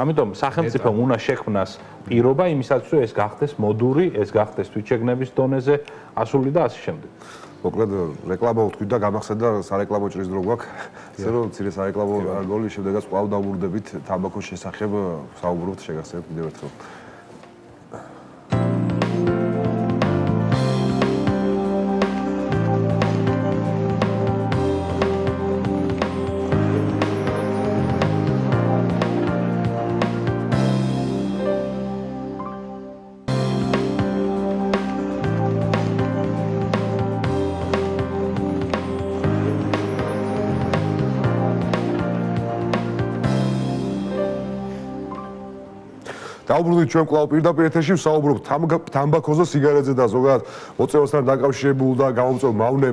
ამიტომ სახელმწიფომ უნდა შექმნას პირობა იმისათვის, რომ ეს გახდეს მოდური, ეს გახდეს თვითშეგნების დონეზე ასული და ასე შემდეგ. მოკლედ რეკლამა ვთქვით და გამახსენდა სარეკლამო ჭრის დრო გვაქვს. ისე რომ მცირე სარეკლამო რგოლი შემდეგაც კვლავ დავუბრუნდებით თამბაქოს შესახებ საუბრობთ შეგახსენებთ კიდევ ერთხელ. დავუბრუნდით ჩვენ კვლავ პირდაპირ ეთერში ვსაუბრობთ თამბაქოზე, სიგარეტზე და ზოგადად მოწევასთან დაკავშირებულ და გამომწვევ მავნე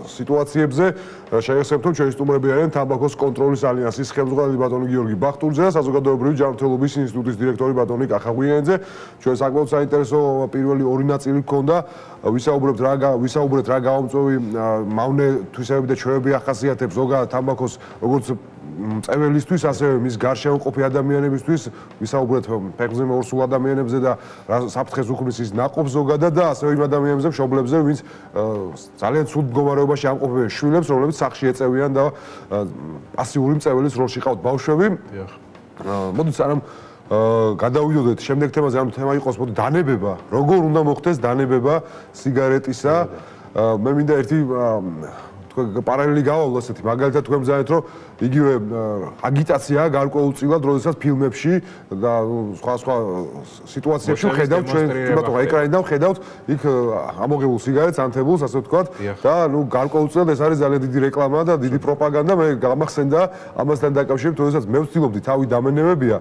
სიტუაციებზე. შეგახსენებთ, რომ ჩვენი სტუმრები არიან თამბაქოს კონტროლის ალიანსის ხელმძღვანელი ბატონი გიორგი ბახტურიძე და საზოგადოებრივი ჯანმრთელობის ინსტიტუტის დირექტორი ბატონი კახაღვიანიძე. ჩვენ საკმაოდ საინტერესო პირველი ორი ნაწილი გქონდა. ვისაუბრეთ რა გამომწვევი მავნე თვისებები და ჩვევები ახასიათებს ზოგადად თამბაქოს როგორც მწეველისთვის, ასევე მის გარშემო მყოფი ადამიანებისთვის, ვისაუბრეთ ფეხზე მორსულ ადამიანებზე და საფრთხეს უქმნის ის ნაყოფ ზოგადად და ასევე იმ ადამიანებზე, მშობლებზე, ვინც ძალიან ცუდ მდგომარეობაში ამყოფებენ შვილებს, რომლებიც სახლში ეწევიან და პასიური მწეველის როლში ყავთ ბავშვები. მოდით სანამ გადავიდოდეთ შემდეგ თემაზე, ამ თემა იყოს მოდი დანებება, როგორ უნდა მოხდეს დანებება სიგარეტისა. მე მინდა ერთი პარალელი გავავლო ასეთი, მაგალითად თქვენ ბრძანეთ, რომ იგივე აგიტაცია გარკვეულწილად, როდესაც ფილმებში და სხვა სიტუაციებში ხედავთ ჩვენ, თუმცა ეკრანიდან ხედავთ იქ ამოღებულ სიგარეტს, ანთებულს, ასე ვთქვათ, და ნუ გარკვეულწილად ეს არის ძალიან დიდი რეკლამა და დიდი პროპაგანდა. მე გამახსენდა ამასთან დაკავშირებით, როდესაც მე ვცდილობდი თავი დამენებებია,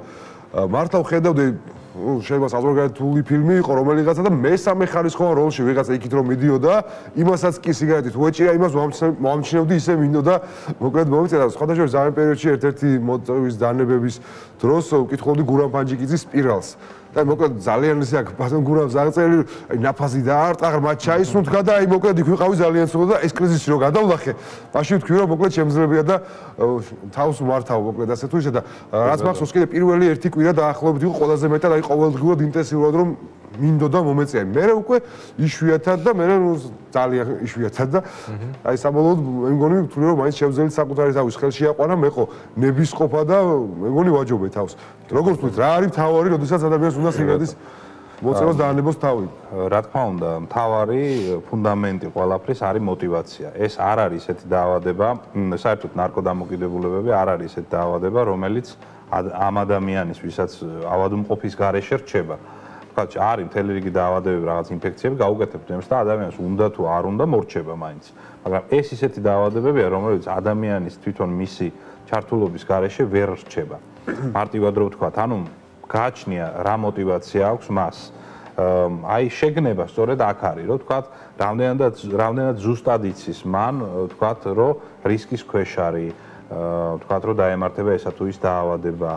მართლა ვხედავდი შეიძლება საზოგადოებრივი ფილმი იყო რომელიღაცა და მესამე ხარისხოვან როლში ვიღაცა იქით რომ მიდიოდა, იმასაც კი სიგარეტით უეჭირა, იმას მომამჩნევდი ისე მინდოდა, მოკლედ მომიწერა სხვადასხვა ზამენ პერიოდში ერთ-ერთი მოწვევის დანებების დროს ვკითხულობდი გურამ ფანჯიკიძის სპირალს. და მოკლედ ძალიან ისე აქ ბატონ გურამს აღწერილი, აი ნაფაზი დაარტყა, მათ ჩაისუნთქა და აი მოკლედ იქ ვიყავი ძალიან ცუდად და ეს კრიზისი რო გადავლახე, მაშინ ვთქვი რომ მოკლედ შემძლებია და თავს მართავ მოკლედ ასე თუ ისე და რაც მახსოვს კიდე პირველი ერთი კვირა დაახლოებით იყო ყველაზე მეტად აი ყოველდღიურად ინტენსიურად რომ მინდოდა მომეწია. მე უკვე იშვიათად და მე ძალიან იშვიათად და აი საბოლოოდ მე მგონი ვთვლი რომ მაინც შევძელით საკუთარი თავის ხელში აყვანა, მე ხო ნებისყოფა და მე მგონი ვაჯობე თავს. როგორ ვთქვით, რა არის თავარი, როდესაც ადამიანს უნდა სიგარეტის მოწევას დაანებოს თავი? რა თქმა უნდა, მთავარი ფუნდამენტი ყველაფრის არის мотиваცია. ეს არ არის ესეთი დაავადება, საერთოდ ნარკოდამოკიდებულებები არ არის ესეთი დაავადება, რომელიც ამ ადამიანის, ვისაც ავადმყოფის გარეშე რჩება. თქვათ, არის მთელი რიგი დაავადებები, რაღაც ინფექციები გაუკეთებთ იმას და ადამიანს უნდა თუ არ უნდა მორჩება მაინც. მაგრამ ეს ისეთი დაავადებებია, რომელიც ადამიანის თვითონ მისი ჩართულობის გარეშე ვერ რჩება. მარტივად რო ვთქვათ, ანუ გააჩნია რა мотиваცია აქვს მას. აი შეგნება სწორედ აქ არის, რომ ვთქვათ, რამდენად ზუსტად იცის მან, ვთქვათ, რომ რისკის ქვეშ არის, ვთქვათ, რომ დაემართება ესა თუ ის დაავადება,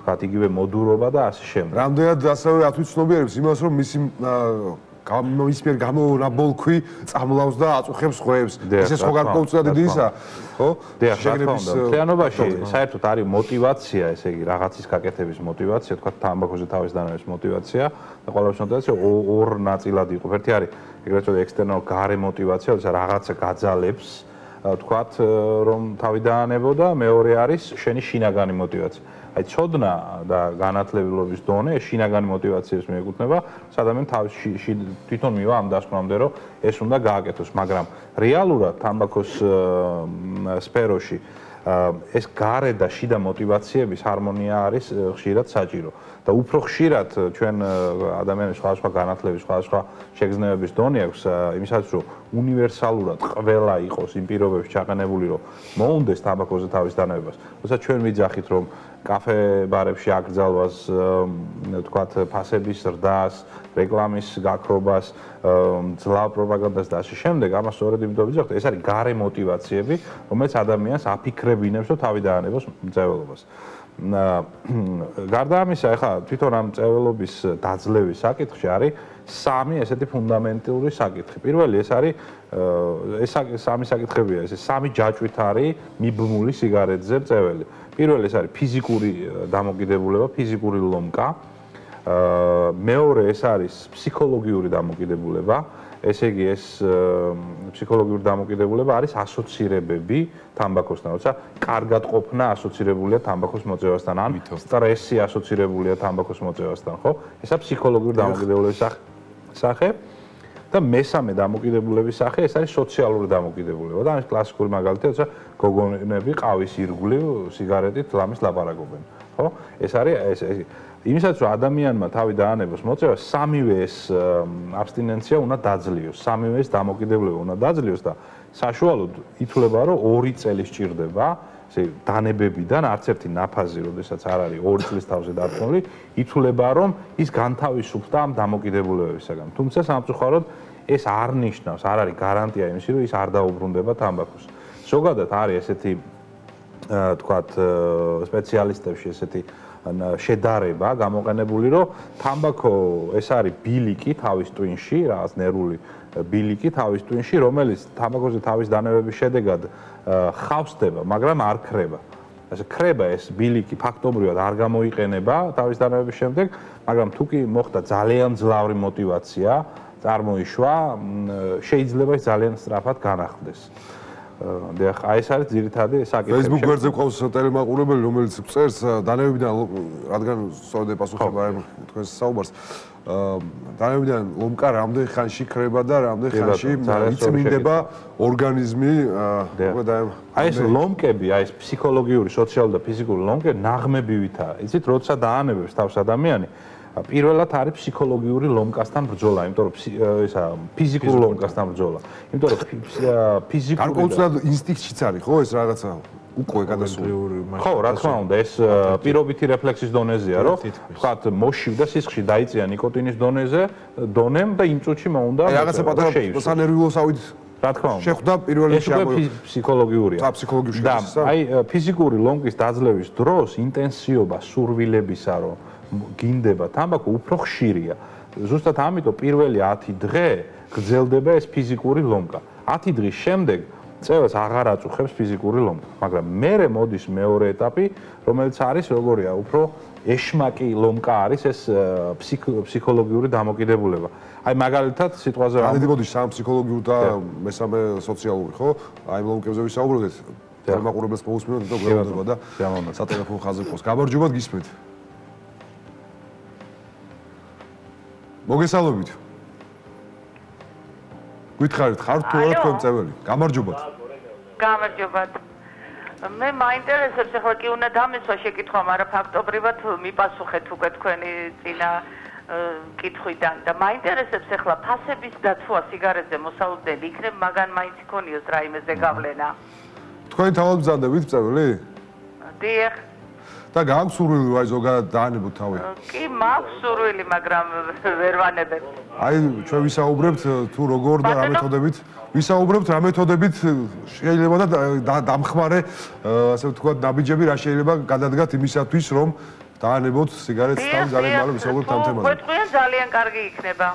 ვთქვათ, იგივე მოდურობა და ასე შემდეგ. რამდენად ასევე ათვისნობიერებს იმას, რომ მისი მის მიერ გამონაბოლქვი წამლავს და აწუხებს ხვეებს. ესე სხვა გარკვეულწილად დიდი ისა, ხო? შეგნების მთლიანობაში საერთოდ არის мотиваცია, ესე იგი რაღაცის გაკეთების мотиваცია, თქვათ თამბაქოზე თავის დანების мотиваცია და ყველაფრის мотиваცია ორ ნაწილად იყო. ერთი არის ეგრეთ წოდებული ექსტერნალ გარე мотиваცია, როცა რაღაცა გაძალებს, თქვათ, რომ თავი დაანებო და მეორე არის შენი შინაგანი мотиваცია. აი ცოდნა და განათლებილობის დონე შინაგანი მოტივაციებს მიეკუთვნება, ადამიანი თავის თვითონ მივა ამ დასკვნამდე, რომ ეს უნდა გააკეთოს, მაგრამ რეალურად თამბაქოს სფეროში ეს გარე და შიდა მოტივაციების ჰარმონია არის ხშირად საჭირო და უფრო ხშირად ჩვენ ადამიანის სხვადასხვა განათლების, სხვადასხვა შეგრძნებების დონე აქვს იმისაც, რომ უნივერსალურად ყველა იყოს იმ პირობებში ჩაყენებული, რომ მოუნდეს თამბაქოზე თავის დანებებას. როცა ჩვენ ვიძახით, რომ კაფე-ბარებში აკრძალვას, თქვათ, ფასების ზრდას, რეკლამის გაქრობას, ძლავა პროპაგანდას და ასე შემდეგ, ამას სწორედ იმიტომ ვიძახთ, ეს არის გარე მოტივაციები, რომელიც ადამიანს აფიქრებინებს, რომ თავი დაანებოს მწვერვალობას. გარდა ამისა, ახლა თვითონ ამ მწვერვალობის დაძლევის საკითხში არის სამი ესეთი ფუნდამენტური საკითხი. პირველი ეს არის ეს სამი საკითხებია, ეს სამი ჯაჭვით არის მიბმული სიგარეტზე მწვერვალი. პირველი ეს არის ფიზიკური დამოკიდებულება, ფიზიკური ლომკა. მეორე ეს არის ფსიქოლოგიური დამოკიდებულება. ესე იგი ეს ფსიქოლოგიური დამოკიდებულება არის ასოცირებები თამბაქოსთან, როცა კარგად ყოფნა ასოცირებულია თამბაქოს მოწევასთან, ან სტრესი ასოცირებულია თამბაქოს მოწევასთან, ხო? ესა ფსიქოლოგიური დამოკიდებულების სახე. და მესამე დამოკიდებულების სახე ეს არის სოციალური დამოკიდებულება და ამის კლასიკური მაგალითია, როცა გოგონები ყავის ირგვლივ სიგარეტით ლამის ლაპარაკობენ, ხო? ეს არის იმისაც რომ ადამიანმა თავი დაანებოს მოწევა, სამივე ეს აბსტინენცია უნდა დაძლიოს, სამივე ეს დამოკიდებულება უნდა დაძლიოს და საშუალოდ ითვლება რომ 2 წელი სჭირდება ესე დანებებიდან არც ერთი ნაფაზი, როდესაც არ არის 2 წლის თავზე დარწმუნებული, ითვლება რომ ის განთავისუფლდა ამ დამოკიდებულებებისაგან. თუმცა სამწუხაროდ ეს არ ნიშნავს, არ არის გარანტია იმისი, რომ ის არ დაუბრუნდება თამბაქოს. ზოგადად არის ესეთი თქვათ სპეციალისტებში ესეთი შედარება გამოყენებული, რომ თამბაქო ეს არის ბილიკი თავის ტვინში, რაღაც ნერვული ბილიკი თავის ტვინში, რომელიც თამბაქოზე თავის დანებების შედეგად ხავსდება, მაგრამ არ ქრება. ასე ქრება ეს ბილიკი ფაქტობრივად არ გამოიყენება თავის დანებების შემდეგ, მაგრამ თუ კი მოხდა ძალიან ძლავრი მოტივაცია, წარმოიშვა, შეიძლება ის ძალიან სწრაფად განახლდეს. აი ეს არის ძირითადი საკითხი. Facebook გვერდზე ყავს ტელემაყურებელი, რომელიც წერს დანებებიდან, რადგან სწორედ ეპასუხება თქვენს საუბარს. დანებებიდან ლომკა რამდენ ხანში ქრება და რამდენ ხანში იწმინდება ორგანიზმი. აი ეს ლომკები, აი ეს ფსიქოლოგიური, სოციალური და ფიზიკური ლომკები ნაღმებივითაა. იცით, როცა დაანებებს თავს ადამიანი, პირველად არის ფსიქოლოგიური ლომკასთან ბრძოლა, იმიტომ რომ ისა ფიზიკური ლომკასთან ბრძოლა. იმიტომ რომ ფიზიკური გარკვეულწილად ინსტინქტშიც არის, ხო, ეს რაღაცა უკვე გადასული. ხო, რა თქმა უნდა, ეს პირობითი რეფლექსის დონეზეა, რომ ვთქვათ, მოშივდა სისხლში დაიწია ნიკოტინის დონემ და იმ წუთში მოუნდა რაღაცა პატარა სანერვიულოსავით რა თქმა უნდა. შეხვდა პირველ რიგში ფსიქოლოგიურია. ფსიქოლოგიური და აი ფიზიკური ლომკის დაძლევის დროს ინტენსიობა სურვილებისა, რომ გინდება თამბაქო უფრო ხშირია. ზუსტად ამიტომ პირველი 10 დღე გრძელდება ეს ფიზიკური ლომკა. 10 დღის შემდეგ წევას აღარ აწუხებს ფიზიკური ლომკა, მაგრამ მერე მოდის მეორე ეტაპი, რომელიც არის როგორია, უფრო ეშმაკი ლომკა არის ეს ფსიქოლოგიური დამოკიდებულება. აი მაგალითად სიტყვაზე ამიტომაც სამ ფსიქოლოგიური და მესამე სოციალური, ხო? აი ლომკებზე ვისაუბროთ, თემაყურებელს მოусმინოთ, თვითონ გვერდება და სატელეფონო ხაზზე ყავს. გამარჯობათ, გისმენთ. მოგესალმებით. გითხარით, ხარ თუ არა თქვენ წეველი? გამარჯობათ. გამარჯობათ. მე მაინტერესებს, ახლა კი უნდა დამესვა შეკითხვა, მაგრამ ფაქტობრივად მიპასუხეთ უკვე თქვენი წინა კითხვიდან და მაინტერესებს ახლა ფასების დაცვა სიგარეტზე მოსალოდნელი იქნებ, მაგან მაინც იქონიოს რაიმე ზეგავლენა. თქვენ თავად ბრძანდებით წეველი? დიახ. და გააქვს სურვილი აი ზოგადად დაანებოთ თავი? კი, მაქვს სურვილი, მაგრამ ვერ ვანებებ. აი ჩვენ ვისაუბრებთ თუ როგორ და რა მეთოდებით ვისაუბრებთ რა მეთოდებით შეიძლება და დამხმარე ასე ვთქვათ ნაბიჯები რა შეიძლება გადადგათ იმისათვის რომ დაანებოთ სიგარეტს თავი ძალიან მალე ვისაუბრებთ ამ თემაზე. გვეტყვიან ძალიან კარგი იქნება.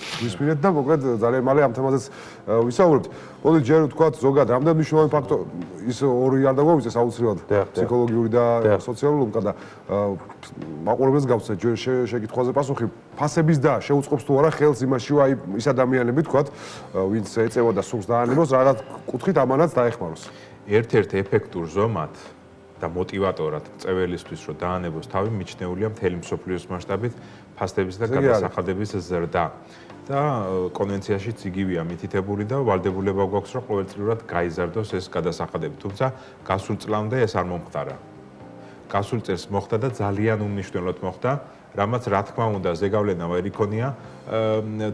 ვისმინეთ და მოკლედ ძალიან მალე ამ თემაზეც ვისაუბრებთ. მოდი ჯერ ვთქვათ ზოგადად რამდენი მნიშვნელოვანი ფაქტორი ის ორი არ დაგვაუწეს აუცილებლად ფსიქოლოგიური და სოციალური ლომკა და მაყურებელს გავცეთ ჯერ შეკითხვაზე პასუხი ფასების და შეუწყობს თუ არა ხელს იმაში აი ის ადამიანები ვთქვათ ვინც ეწევა და სურს დაანებოს რაღაც კუთხით ამანაც დაეხმაროს. ერთ-ერთ ეფექტურ ზომად და მოტივატორად წეველისთვის რომ დაანებოს თავი მიჩნეულია მთელი მსოფლიოს მასშტაბით ფასტების და გადასახადების ზრდა. და კონვენციაშიც იგივეა მითითებული და ვალდებულება გვაქვს რომ ყოველწლიურად გაიზარდოს ეს გადასახადები. თუმცა გასულ წლამდე ეს არ მომხდარა. გასულ წელს მოხდა და ძალიან უმნიშვნელოდ მოხდა, რამაც რა თქმა უნდა ზეგავლენა ვერ იქონია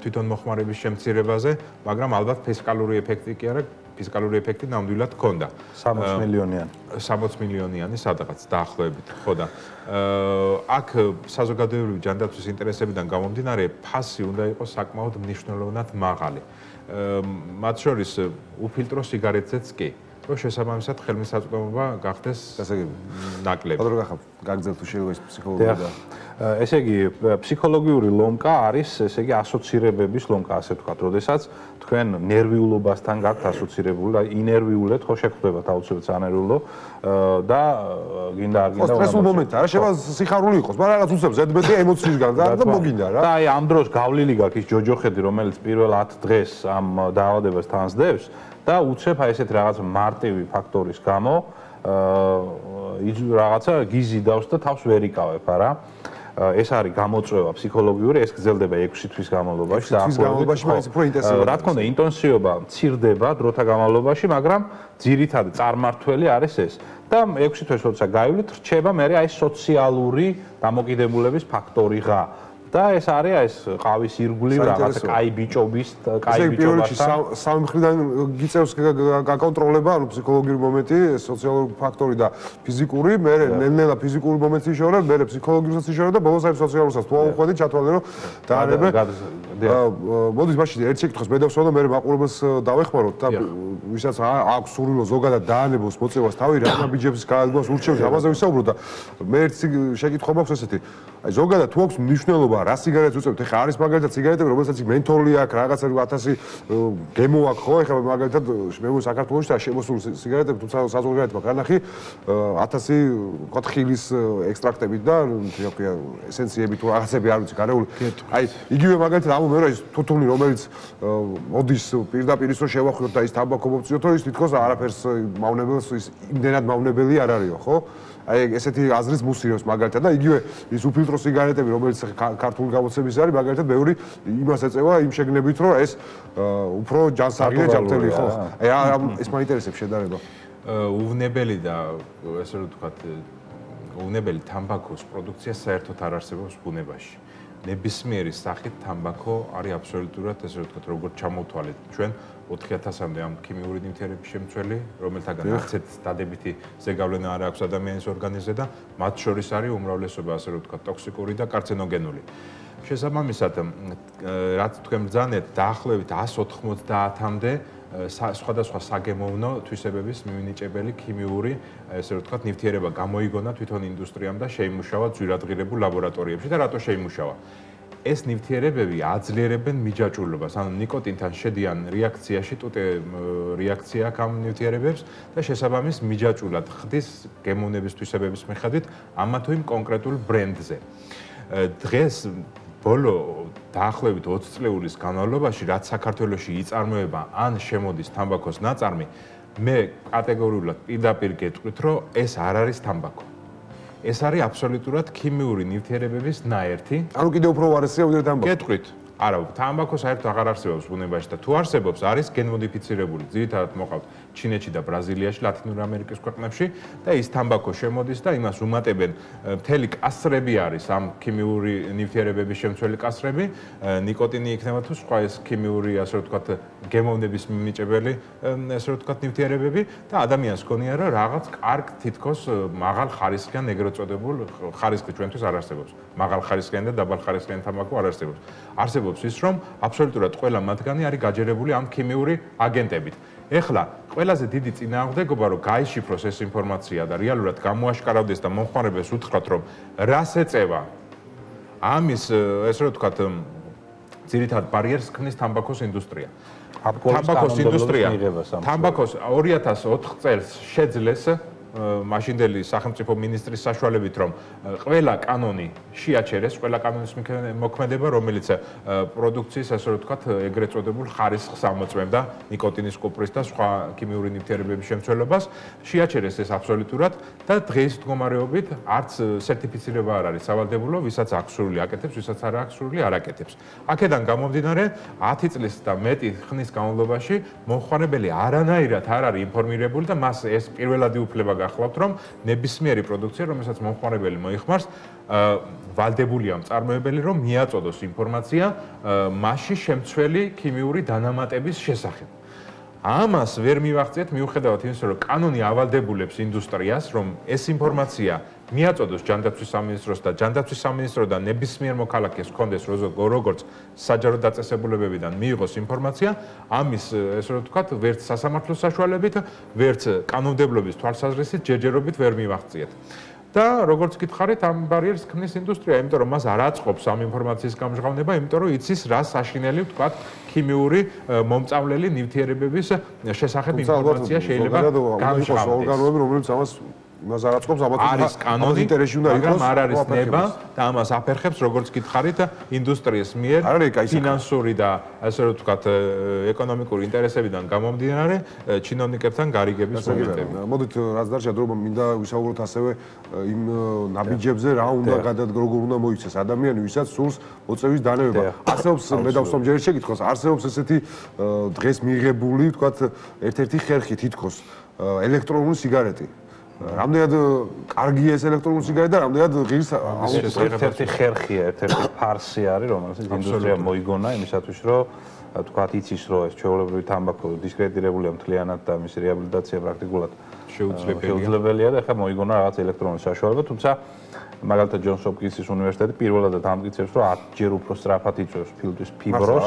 თვითონ მოხმარების შემცირებაზე, მაგრამ ალბათ ფისკალური ეფექტი კი არა, ფისკალური ეფექტი ნამდვილად ჰქონდა. 60 მილიონიანი. 60 მილიონიანი სადღაც დაახლოებით, ხო და აქ საზოგადოებრივი ჯანდაცვის ინტერესებიდან გამომდინარე, ფასი უნდა იყოს საკმაოდ მნიშვნელოვნად მაღალი. მათ შორის უფილტრო სიგარეტზეც კი. რომ შესაბამისად ხელმისაწვდომობა გახდეს ნაკლები. ბატონო გახავ, გაგზავნ თუ შეიძლება ეს ფსიქოლოგია და ესე იგი ფსიქოლოგიური ლომკა არის, ესე იგი ასოცირებების ლომკა, ასე ვთქვათ, როდესაც თქვენ ნერვიულობასთან გაქვთ ასოცირებული და ინერვიულეთ ხო შეხვდებათ აუცილებლად ანერვიულო და გინდა არ გინდა სტრესულ მომენტი არა შევა სიხარული იყოს, მაგრამ რაღაც უცებ ზედმეტი ემოციისგან და მოგინდა რა. და აი ამ დროს გავლილი გაქვს ის ჯოჯოხეთი, რომელიც პირველ 10 დღეს ამ დაავადებას თანსდებს და უცებ აი ესეთ რაღაც მარტივი ფაქტორის გამო რაღაცა გიზიდავს და თავს ვერ იკავებ, არა? ეს არის გამოწვევა ფსიქოლოგიური, ეს გრძელდება 6 თვის განმავლობაში და რა თქმა უნდა ინტენსივობა მცირდება დროთა განმავლობაში, მაგრამ ძირითადი წარმართველი არის ეს. და 6 თვის როცა გაივლით, რჩება მე აი სოციალური დამოკიდებულების ფაქტორიღა. და ეს არის ეს ყავის ირგვლივ რაღაცა კაი ბიჭობის, კაი ბიჭობასთან. სამი მხრიდან გიწევს გაკონტროლება, ანუ ფსიქოლოგიური მომენტი, სოციალური ფაქტორი და ფიზიკური, მე ნელ-ნელა ფიზიკური მომენტი იშორებ, მე ფსიქოლოგიურსაც იშორებ და ბოლოს აი სოციალურსაც თუ აუხვედი ჩათვალე რომ დაანებე. მოდის მაშინ ერთ შეკითხვას მე დავსვამ და მე მაყურებელს დავეხმაროთ და ვისაც აქვს სურვილო ზოგადად დაანებოს მოწევას თავი რა ბიჭებს გააგვას ურჩევს ამაზე ვისაუბროთ და მე ერთ შეკითხვა მაქვს ესეთი. აი ზოგადად თუ აქვს მნიშვნელობა რა სიგარეტს უწევთ? ეხლა არის მაგალითად სიგარეტები, რომელსაც მენთოლი აქვს, რაღაცა 1000 გემო აქვს, ხო? ეხლა მაგალითად მე საქართველოში და შემოსული სიგარეტები, თუმცა საზოგადოებრივ მაქვს განახი 1000 ვთქვათ ხილის ექსტრაქტებით და თქო ესენციები თუ რაღაცები არ ვიცი გარეული. აი იგივე მაგალითად ამ მე რა ის თუთუნი რომელიც მოდის პირდაპირ ის რომ შევახვიოთ და ის თამბაქო მოვწიოთო ის თითქოს არაფერს მავნებელს ის იმდენად მავნებელი არ არისო, ხო? აი ესეთი აზრის მუსიოს მაგალითად და იგივე ის უფილტრო სიგარეტები რომელიც ქართული გამოცემის არის მაგალითად ბევრი იმას ეწევა იმ შეგნებით რომ ეს უფრო ჯანსაღია ჯანმრთელი ხო აი ეს მაინტერესებს შედარება უვნებელი და ესე რომ ვთქვათ უვნებელი თამბაქოს პროდუქცია საერთოდ არ არსებობს ბუნებაში ნებისმიერი სახით თამბაქო არის აბსოლუტურად ესე რომ ვთქვათ როგორც ჩამოვთვალეთ ჩვენ 4000-მდე ამ ქიმიური ნივთიერების შემცველი, რომელთაგან არცეთ დადებითი ზეგავლენა არ აქვს ადამიანის ორგანიზმზე და მათ შორის არის უმრავლესობა ასე რომ ვთქვათ ტოქსიკური და კარცინოგენული. შესაბამისად, რაც თქვენ ბრძანეთ, დაახლოებით 190-მდე სხვადასხვა საგემოვნო თვისებების მივნიჭებელი ქიმიური, ესე რომ ვთქვათ, ნივთიერება გამოიგონა თვითონ ინდუსტრიამ და შეიმუშავა ძვირადღირებულ ლაბორატორიებში და რატო შეიმუშავა? ეს ნივთიერებები აძლიერებენ მიჯაჭვულობას, ანუ ნიკოტინთან შედიან რეაქციაში, ტუტე რეაქცია აქვს ამ ნივთიერებებს და შესაბამის მიჯაჭვულად ხდის გემოვნების თვისებების მიხედვით ამა თუ იმ კონკრეტულ ბრენდზე. დღეს ბოლო დაახლოებით 20 წლების განმავლობაში, რაც საქართველოში იწარმოება ან შემოდის თამბაქოს ნაწარმი, მე კატეგორიულად პირდაპირ გეტყვით, რომ ეს არ არის თამბაქო. ეს არის აბსოლუტურად ქიმიური ნივთიერებების ნაერთი. ანუ კიდევ უფრო უარესია ვიდრე თამბაქო. გეტყვით. არა, თამბაქო საერთოდ აღარ არსებობს ბუნებაში და თუ არსებობს, არის გენმოდიფიცირებული. ძირითადად მოყავთ ჩინეთში და ბრაზილიაში, ლათინური ამერიკის ქვეყნებში და ის თამბაქო შემოდის და იმას უმატებენ მთელი კასრები არის ამ ქიმიური ნივთიერებების შემცველი კასრები, ნიკოტინი იქნება თუ სხვა ეს ქიმიური, ასე ვთქვათ, გემოვნების მიმიჭებელი, ასე ვთქვათ, ნივთიერებები და ადამიანს გონია რომ რაღაც კარგ თითქოს მაღალ ხარისხიან ეგრეთ წოდებულ ხარისხი ჩვენთვის არ არსებობს. მაღალ ხარისხიანი და დაბალ ხარისხიანი თამბაქო არ არსებობს. არსებობს ის რომ აბსოლუტურად ყველა მათგანი არის გაჯერებული ამ ქიმიური აგენტებით. ეხლა ყველაზე დიდი წინააღმდეგობა რომ გაიშიფროს ეს ინფორმაცია და რეალურად გამოაშკარავდეს და მომხმარებელს უთხრათ რომ რას ეწევა ამის ესე რომ ვთქვათ ძირითად ბარიერს ქმნის თამბაქოს ინდუსტრია. თამბაქოს ინდუსტრია თამბაქოს 2004 წელს შეძლეს მაშინდელი სახელმწიფო მინისტრის საშუალებით, რომ ყველა კანონი შეაჩერეს, ყველა კანონის მოქმედება, რომელიც პროდუქციის, ასე რომ ვთქვათ, ეგრეთ წოდებულ ხარისხს ამოწმებდა, ნიკოტინის, კუპრის და სხვა ქიმიური ნივთიერებების შემცველობას, შეაჩერეს ეს აბსოლუტურად და დღეს მდგომარეობით არც სერტიფიცირება არ არის სავალდებულო, ვისაც აქვს სრული აკეთებს, ვისაც არ აქვს სრული არ აკეთებს. აქედან გამომდინარე, 10 წლის და მეტი ხნის განმავლობაში მომხმარებელი არანაირად არ არის ინფორმირებული და მას ეს პირველადი უფლება გახლავთ, რომ ნებისმიერი პროდუქცია, რომელსაც მომხმარებელი მოიხმარს, ვალდებულია მწარმოებელი, რომ მიაწოდოს ინფორმაცია მასში შემცველი ქიმიური დანამატების შესახებ. ამას ვერ მივახციეთ მიუხედავად იმისა, რომ კანონი ავალდებულებს ინდუსტრიას, რომ ეს ინფორმაცია მიაწოდოს ჯანდაცვის სამინისტროს და ჯანდაცვის სამინისტროდან ნებისმიერ მოქალაქეს ჰქონდეს როგორც საჯარო დაწესებულებებიდან მიიღოს ინფორმაცია, ამის ესე რომ ვთქვათ, ვერც სასამართლოს საშუალებით, ვერც კანონმდებლობის თვალსაზრისით ჯერჯერობით ვერ მივახციეთ. და როგორც გითხარით, ამ ბარიერს ქმნის ინდუსტრია, იმიტომ რომ მას არ აწყობს ამ ინფორმაციის გამჟღავნება, იმიტომ რომ იცის რა საშინელი, ვთქვათ, ქიმიური მომწავლელი ნივთიერებების შესახებ ინფორმაცია შეიძლება გამჟღავნდეს. ორგანოები, რომელიც ამას იმას არ აწყობს, არის კანონი, ინტერესში უნდა იყოს, მაგრამ არ არის ნება და ამას აფერხებს, როგორც გითხარით, ინდუსტრიის მიერ ფინანსური და ასე რომ ვთქვათ, ეკონომიკური ინტერესებიდან გამომდინარე, ჩინოვნიკებთან გარიგების მომენტები. მოდით, რაც დარჩა დრო, მინდა ვისაუბროთ ასევე იმ ნაბიჯებზე, რა უნდა როგორ უნდა მოიქცეს ადამიანი, ვისაც სურს მოწევის დანებება. არსებობს, მე დავსვამჯერით შეკითხვას, არსებობს ესეთი დღეს მიღებული, ვთქვათ, ერთ-ერთი ხერხი თითქოს ელექტრონული სიგარეტი. რამდენად კარგია ეს ელექტრონული სიგარეტი და რამდენად ღირს ერთ-ერთი ხერხია, ერთ-ერთი ფარსი არის, რომელსაც ინდუსტრია მოიგონა იმისათვის, რომ თქვათ იცის, რომ ეს ჩვეულებრივი თამბაქო დისკრედიტებულია მთლიანად და მისი რეაბილიტაცია პრაქტიკულად შეუძლებელია და ახლა მოიგონა რაღაც ელექტრონული საშუალება, თუმცა მაგალითად ჯონს ჰოპკინსის უნივერსიტეტი პირველადად ამტკიცებს, რომ 10-ჯერ უფრო სწრაფად იწვევს ფილტვის ფიბროს,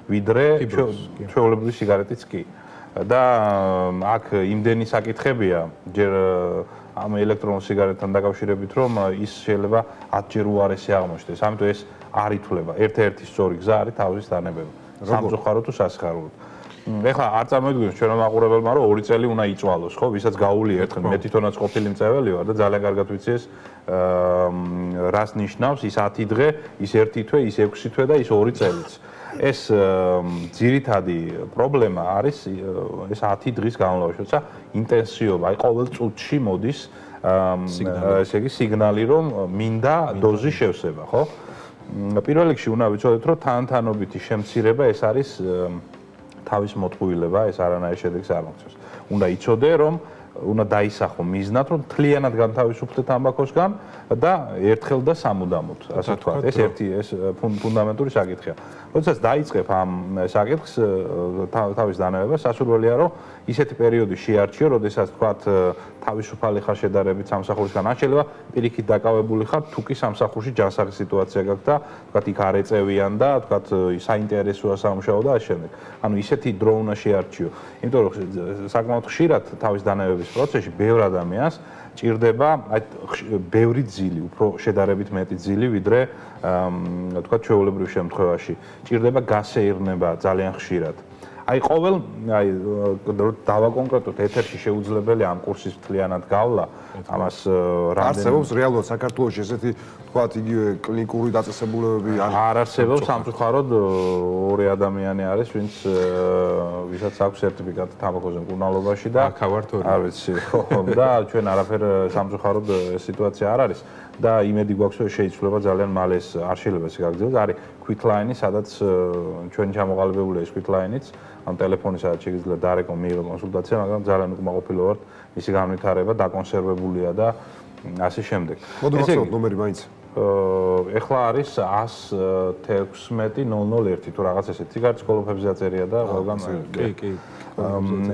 ვიდრე ჩვეულებრივი სიგარეტიც კი. და აქ იმდენი საკითხებია ჯერ ამ ელექტრონულ სიგარეტთან დაკავშირებით, რომ ის შეიძლება 10-ჯერ უარესი აღმოჩნდეს. ამიტომ ეს არ ითვლება. ერთ-ერთი სწორი გზა არის თავის დანებება. სამწუხაროდ თუ სასიხარულოდ. ეხლა არ წარმოიდგინოს ჩვენო მაყურებელმა, რომ 2 წელი უნდა იწვალოს, ხო? ვისაც გაუვლია ერთხელ, მე თვითონაც ყოფილი მწეველი ვარ და ძალიან კარგად ვიცი ეს რას ნიშნავს ის 10 დღე, ის 1 თვე, ის 6 თვე და ის 2 წელიც. ეს ძირითადი პრობლემა არის ეს 10 დღის განმავლობაში, როცა ინტენსივობა, აი ყოველ წუთში მოდის ესე იგი სიგნალი, რომ მინდა დოზი შევსება, ხო? პირველ რიგში უნდა ვიცოდეთ, რომ თანთანობითი შემცირება ეს არის თავის მოწყვილება, ეს არანაირ შედეგს არ მოგცემს. უნდა იცოდე, რომ უნდა დაისახო მიზნად, რომ მთლიანად განთავისუფლდეთ თამბაქოსგან და ერთხელ და სამუდამოდ, ასე ვთქვათ. ეს ერთი ეს ფუნდამენტური საკითხია. როდესაც დაიწყებ ამ საკითხს თავის დანებებას, სასურველია, რომ ისეთი პერიოდი შეარჩიო, როდესაც ვთქვათ თავისუფალი ხარ შედარებით სამსახურისგან, ან შეიძლება პირიქით დაკავებული ხარ, თუ კი სამსახურში ჯანსაღი სიტუაცია გაქვს და ვთქვათ იქ არ ეწევიან და ვთქვათ საინტერესოა სამუშაო და ამ შემდეგ. ანუ ისეთი დრო უნდა შეარჩიო. იმიტომ რომ საკმაოდ ხშირად თავის დანებების პროცესში ბევრ ადამიანს ჭირდება აი ბევრი ძილი, უფრო შედარებით მეტი ძილი, ვიდრე ვთქვათ ჩვეულებრივ შემთხვევაში. ჭირდება გასეირნება ძალიან ხშირად. აი ყოველ აი დავაკონკრეტოთ ეთერში შეუძლებელია ამ კურსის მთლიანად გავლა, ამას რამდენი არსებობს რეალურად საქართველოში ესეთი ვთქვათ იგივე კლინიკური დაწესებულებები არ არსებობს, სამწუხაროდ 2 ადამიანი არის, ვისაც აქვს სერტიფიკატი თამბაქოზე მკურნალობაში და არ ვიცი, ხო და ჩვენ არაფერ სამწუხაროდ ეს სიტუაცია არ არის და იმედი გვაქვს, რომ შეიცვლება ძალიან მალე ეს არ შეიძლება ეს გაგრძელდეს. არის quick-line-ი, სადაც ჩვენი ჩამოყალიბებულია ეს quick-line-იც, ამ ტელეფონი სადაც შეიძლება დარეკო მიიღო კონსულტაცია, მაგრამ ძალიან უკმაყოფილო ვართ, მისი განვითარება დაკონსერვებულია და ასე შემდეგ. მოდი ვახსოვოთ ნომერი მაინც. ეხლა არის 116.001 თუ რაღაც ესეთი. სიგარეტის კოლოფებზე აწერია და ყველგან კი.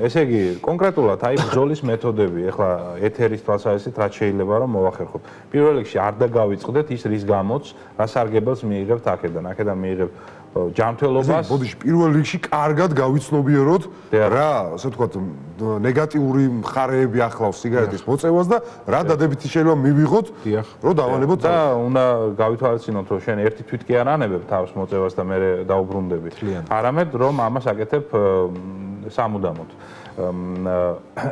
ესე იგი, კონკრეტულად აი ბრძოლის მეთოდები, ეხლა ეთერის თვალსაზრისით რაც შეიძლება რომ მოვახერხოთ. პირველ რიგში არ დაგავიწყდეთ ის რის გამოც, რა სარგებელს მიიღებთ აქედან მიიღებთ ჯანმრთელობას. ბოდიში პირველ რიგში კარგად გავიცნობიეროთ რა, ასე ვთქვათ, ნეგატიური მხარეები ახლავს სიგარეტის მოწევას და რა დადებითი შეიძლება მივიღოთ, რომ დავანებოთ და უნდა გავითვალისწინოთ, რომ შენ ერთი თვით კი არ ანებებ თავს მოწევას და მე დაუბრუნდები. არამედ რომ ამას აკეთებ სამუდამოდ.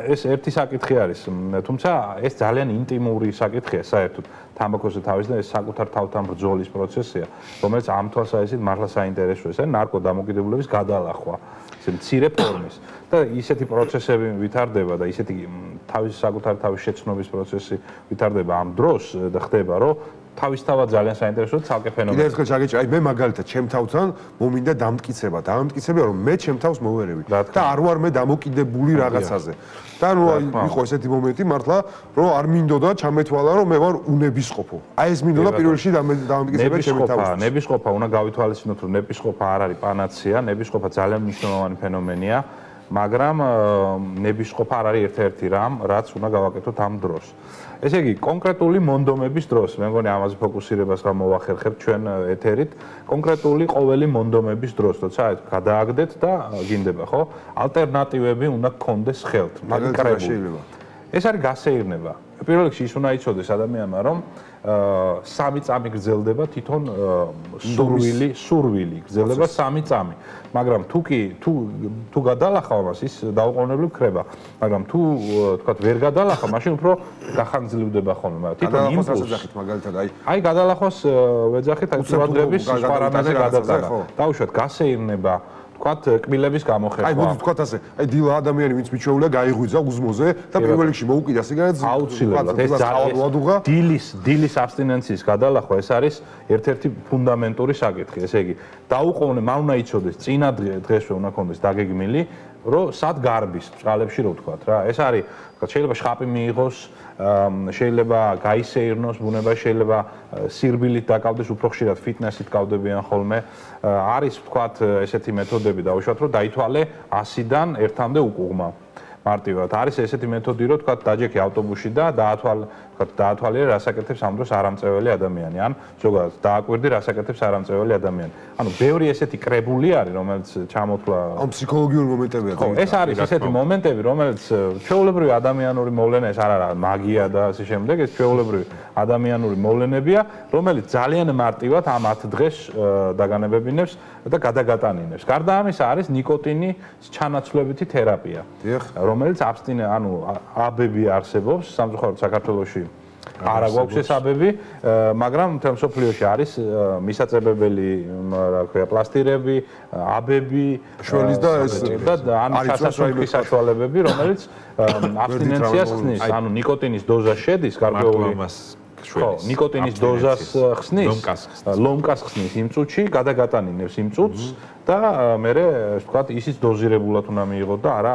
ეს ერთი საკითხი არის, თუმცა ეს ძალიან ინტიმური საკითხია საერთოდ თამბაქოზე თავის და ეს საკუთარ თავთან ბრძოლის პროცესია, რომელიც ამ თვალსაზრისით მართლა საინტერესოა, ეს არის ნარკოდამოკიდებულების გადალახვა, ესე მცირე ფორმის და ისეთი პროცესები ვითარდება და ისეთი საკუთარ თავის შეცნობის პროცესი ვითარდება ამ დროს და ხდება, რომ თავისთავად ძალიან საინტერესოა ცალკე ფენომენი. კიდევ ერთხელ ჩაგეჭირა, აი მე მაგალითად ჩემ თავთან მომინდა დამტკიცება, რომ მე ჩემ თავს მოვერევი და არ ვარ მე დამოკიდებული რაღაცაზე. და ნუ იყო ესეთი მომენტი მართლა, რომ არ მინდოდა ჩამეთვალა, რომ მე ვარ უნებისყოფო. აი ეს მინდოდა პირველ რიგში დამტკიცება ჩემ თავს. ნებისყოფა უნდა გავითვალისწინოთ, რომ ნებისყოფა არ არის პანაცეა, ნებისყოფა ძალიან მნიშვნელოვანი ფენომენია, მაგრამ ნებისყოფა არ არის ერთ-ერთი რამ, რაც უნდა გავაკეთოთ ამ დროს. ესე იგი, კონკრეტული მონდომების დროს, მე მგონი ამაზე ფოკუსირებას გამოვახერხებთ ჩვენ ეთერით, კონკრეტული ყოველი მონდომების დროს, როცა გადააგდეთ და გინდება, ხო? ალტერნატივები უნდა გქონდეს ხელთ. მაგალითად შეიძლება. ეს არის გასეირნება. პირველ რიგში ის უნდა იცოდეს ადამიანმა, რომ 3 წამი გრძელდება თვითონ სურვილი გრძელდება 3 წამი. მაგრამ თუ გადალახავ მას ის დაუყოვნებლივ ქრება. მაგრამ თუ თქვათ ვერ გადალახავ, მაშინ უფრო გახანგრძლივდება ხოლმე, მაგრამ თვითონ იმპულსი მაგალითად აი გადალახვას ვეძახით აი ყურადღების სხვა რამეზე გადატანა. დაუშვათ გასეირნება თქვათ კბილების გამოხერხვა. აი მოდი თქვათ ასე, აი დილა ადამიანი ვინც მიჩვეულია გაიღვიძა უზმოზე და პირველ რიგში მოუკიდა სიგარეტს. აუცილებლად ეს დილის აბსტინენციის გადალახვა ეს არის ერთ-ერთი ფუნდამენტური საკითხი. ესე იგი, დაუყოვნე მან უნდა იცოდეს წინა დღესვე უნდა ქონდეს დაგეგმილი, რომ სად გარბის ბჭყალებში რო ვთქვათ რა. ეს არის, შეიძლება შხაპი მიიღოს, შეიძლება გაისეირნოს ბუნება, შეიძლება სირბილით დაკავდეს, უფრო ხშირად ფიტნესით კავდებიან ხოლმე. არის ვთქვათ ესეთი მეთოდები დაუშვათ, რომ დაითვალე 100-დან 1-მდე უკუღმა. მარტივად არის ესეთი მეთოდი, რომ თქვათ დაჯექი ავტობუსში და დაათვალიერე რას აკეთებს ამ დროს არამწეველი ადამიანი, ან ზოგადად დააკვირდი რას აკეთებს არამწეველი ადამიანი. ანუ ბევრი ესეთი კრებული არის, რომელიც ჩამოთვლა ამ ფსიქოლოგიური მომენტებია. ხო, ეს არის ესეთი მომენტები, რომელიც ჩვეულებრივი ადამიანური მოვლენა, ეს არ არის მაგია და ასე შემდეგ, ეს ჩვეულებრივი ადამიანური მოვლენებია, რომელიც ძალიან მარტივად ამ 10 დღეს დაგანებებინებს და გადაგატანინებს. გარდა ამისა არის ნიკოტინის ჩანაცვლებითი თერაპია. რომელიც აბები არსებობს სამწუხაროდ საქართველოში არ აქვს ეს აბები, მაგრამ მთელ მსოფლიოში არის მისაწებებელი, რა ქვია, პლასტირები, აბები, შველის და ეს ჩასასვლელი საშუალებები, რომელიც აბსტინენციას ხსნის, ანუ ნიკოტინის დოზა შედის გარკვეული ხო, ნიკოტინის დოზას ხსნის, ლომკას ხსნის იმ წუთში, გადაგატანინებს იმ წუთს და მერე ვთქვათ ისიც დოზირებულად უნდა მიიღოთ და არა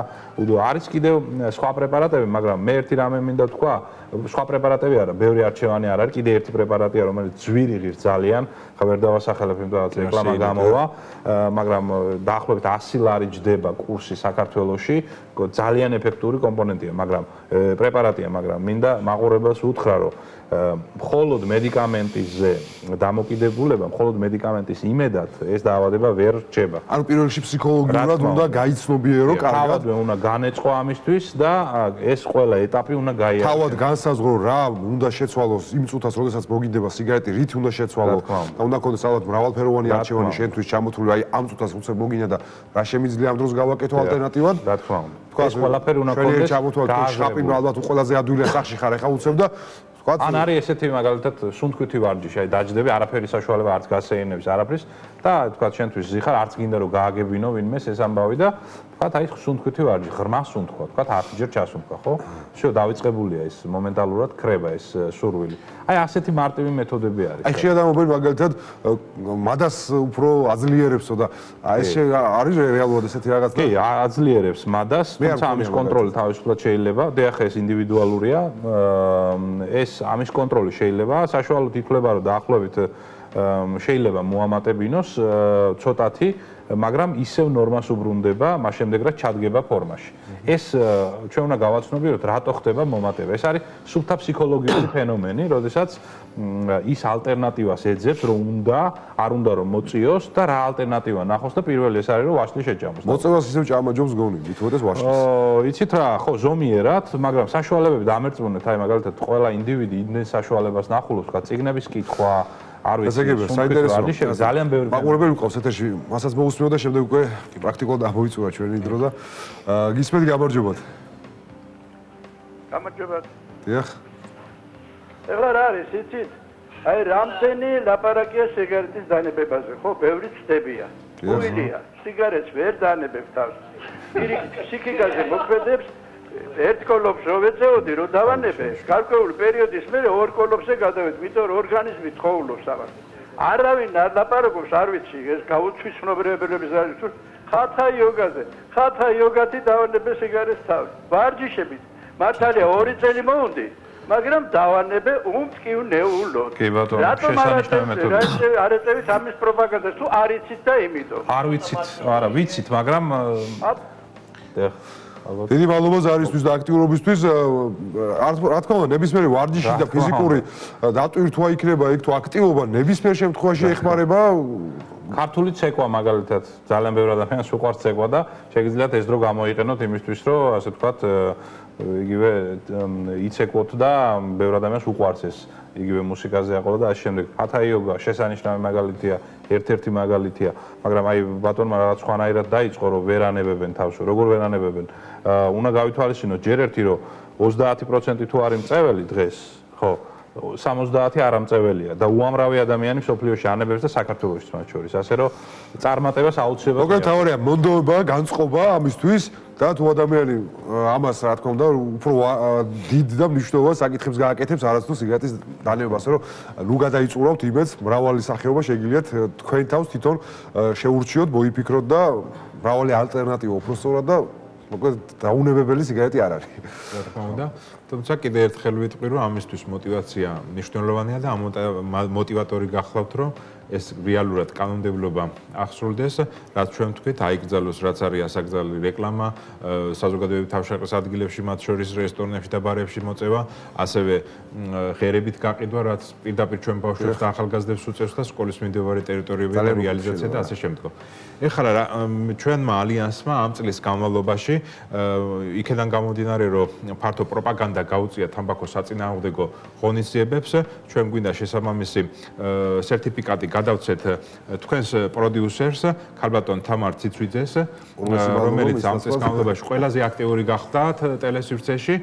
არის კიდევ სხვა პრეპარატები, მაგრამ მე ერთი რამე მინდა თქვა, სხვა პრეპარატები არა, ბევრი არჩევანი არ არის, კიდე ერთი პრეპარატია, რომელიც ძვირი ღირს ძალიან, ხა ვერ დავასახელებ, იმიტომ რომ რეკლამა გამოვა, მაგრამ დაახლოებით 100 ლარი ჯდება კურსი საქართველოში, ძალიან ეფექტური კომპონენტია, მაგრამ პრეპარატია, მაგრამ მინდა მაყურებელს უთხრა, რომ მხოლოდ მედიკამენტზე დამოკიდებულება, მხოლოდ მედიკამენტის იმედად ეს დაავადება ვერ რჩება. ანუ პირველ რიგში ფსიქოლოგიურად უნდა გაიცნობიერო კარგად. თავად უნდა განეწყო ამისთვის და ეს ყველა ეტაპი უნდა გაიაროს. თავად განსაზღვრო რა უნდა შეცვალოს იმ წუთას, როდესაც მოგიდება სიგარეტი, რით უნდა შეცვალო და უნდა ქონდეს ალბათ მრავალფეროვანი არჩევანი შენთვის ჩამოთვლილი, აი ამ წუთას უცებ მოგინა და რა შემიძლია ამ დროს გავაკეთო ალტერნატივად? რა თქმა უნდა. ეს ყველაფერი უნდა ქონდეს. შხაპი ალბათ ყველაზე ადვილია სახში ხარ, ეხა უცებ და ან არის ესეთი მაგალითად სუნთქვითი ვარჯიში, აი დაჯდები, არაფერი საშუალება არც გასეირნების, არაფრის და თქვა შენთვის ზიხარ, არც გინდა რომ გააგებინო ვინმეს ეს ამბავი და თქვა აი სუნთქვითი ვარჯი, ღრმა სუნთქვა, თქვა 10 ჯერ ჩასუნთქვა, ხო? შო დაიწყებულია ეს მომენტალურად ქრება ეს სურვილი. აი ასეთი მარტივი მეთოდები არის. აი შეადამობენ მაგალითად მადას უფრო აძლიერებსო და აი ეს არის რეალურად ესეთი რაღაც კი, აძლიერებს მადას, თუმცა ამის კონტროლი თავისუფლად შეიძლება, დიახ ეს ინდივიდუალურია, ეს ამის კონტროლი შეიძლება, საშუალოდ ითვლება რომ დაახლოებით შეიძლება მოამატებინოს ცოტათი, მაგრამ ისევ ნორმას უბრუნდება, მას შემდეგ რა ჩადგება ფორმაში. ეს ჩვენ უნდა გავაცნობიეროთ, რატო ხდება მომატება. ეს არის სუფთა ფსიქოლოგიური ფენომენი, როდესაც ის ალტერნატივას ეძებს, რომ არ უნდა რომ მოწიოს და რა ალტერნატივა ნახოს და პირველი ეს არის რომ ვაშლი შეჭამოს. მოწევას ისევ ჭამაჯობს გონი, მithuodes ვაშლის. იცით რა, ხო, ზომიერად, მაგრამ საშუალებები დამერწმუნეთ, აი მაგალითად ყველა ინდივიდი იმდენ საშუალებას ნახულობს, რა წიგნების კითხვა, არ ვიცი, საინტერესოა. ძალიან ბევრი მაყურებელი მყავს ეთერში, მასაც მოусმენო და შემდეგ უკვე პრაქტიკულად ამოიწურა ჩვენი დრო და გისმენთ გამარჯობათ. გამარჯობათ. დიახ. ეხლა რა არის, იცით? აი რამდენი ლაპარაკია სიგარეტის დანებებაზე, ხო, ბევრი ცდებია. უილია, სიგარეტს ვერ დანებებ თავს. სიკიგაზე მოქმედებს ერთ კოლოფს რო ვეწეოდი, რო დავანებე, გარკვეული პერიოდის მერე ორ კოლოფზე გადავედი, იმიტომ რომ ორგანიზმი ცხოვრობს ამას. არავინ არ ლაპარაკობს, არ ვიცი, ეს გაუცვის ცნობიერებების არის თუ ხათა იოგაზე. ხათა იოგათი დავანებე სიგარეტს თავს. ვარჯიშებით მართალია 2 წელი მოუნდი. მაგრამ დავანებე უმტკივნეულოდ. კი ბატონო, შესანიშნავი მეთოდია. არ ეწევით ამის პროპაგანდას, თუ არ იცით და იმიტომ. არ ვიცით, არა, ვიცით, მაგრამ დიდი მადლობა ზარისთვის და აქტიურობისთვის. რა თქმა უნდა, ნებისმიერი ვარჯიში და ფიზიკური დატვირთვა იქნება იქ თუ აქტივობა ნებისმიერ შემთხვევაში ეხმარება. ქართული ცეკვა მაგალითად ძალიან ბევრი ადამიანს უყვარს ცეკვა და შეგიძლიათ ეს დრო გამოიყენოთ იმისთვის, რომ ასე ვთქვათ იგივე იცეკვოთ და ბევრი ადამიანს უყვარს ეს იგივე მუსიკაზე აყოლა და ასე შემდეგ. ჰათა იოგა შესანიშნავი მაგალითია, ერთ-ერთი მაგალითია, მაგრამ აი ბატონმა რაღაც სხვანაირად დაიწყო, რომ ვერ ანებებენ თავს, როგორ ვერ ანებებენ. უნდა გავითვალისწინოთ ჯერ ერთი, რომ 30% თუ არის მწეველი დღეს, ხო, 70 არ ამწეველია და უამრავი ადამიანი სოფლიოში ანებებს და საქართველოშიც მათ შორის, ასე რომ წარმატებას აუცილებლად მოკლედ თავარია მონდოება, განწყობა ამისთვის და თუ ადამიანი ამას რა თქმა უნდა უფრო დიდ და მნიშვნელოვან საკითხებს გააკეთებს არასდროს სიგარეტის დანებებას, ასე რომ ნუ გადაიწურავთ იმედს, მრავალი სახეობა შეგიძლიათ თქვენ თავს თვითონ შეურჩიოთ, მოიფიქროთ და მრავალი ალტერნატივა უფრო სწორად და მოკლედ დაუნებებელი სიგარეტი არ არის. რა თქმა უნდა. თუმცა კიდე ერთხელ ვიტყვი, რომ ამისთვის мотиваცია მნიშვნელოვანია და მოტივატორი გახლავთ, რომ ეს რეალურად კანონმდებლობა აღსრულდეს, რაც ჩვენ ვთქვით, აიკრძალოს, რაც არის ასაკრძალი რეკლამა, საზოგადოებრივ თავშეყრის ადგილებში, მათ შორის რესტორნებში და ბარებში მოწევა, ასევე ღერებით გაყიდვა, რაც პირდაპირ ჩვენ ბავშვებს და ახალგაზრდებს უწევს და სკოლის მიმდებარე ტერიტორიების რეალიზაცია და ასე შემდგომ. ეხლა ჩვენმა ალიანსმა ამ წლის განმავლობაში იქიდან გამომდინარე, რომ ფართო პროპაგანდა გაუწია თამბაქოს საწინააღმდეგო ღონისძიებებს, ჩვენ გვინდა შესაბამისი სერტიფიკატი გადავცეთ თქვენს პროდიუსერს, ქალბატონ თამარ ციცვიძეს, რომელიც ამ წლის განმავლობაში ყველაზე აქტიური გახდათ ტელესივრცეში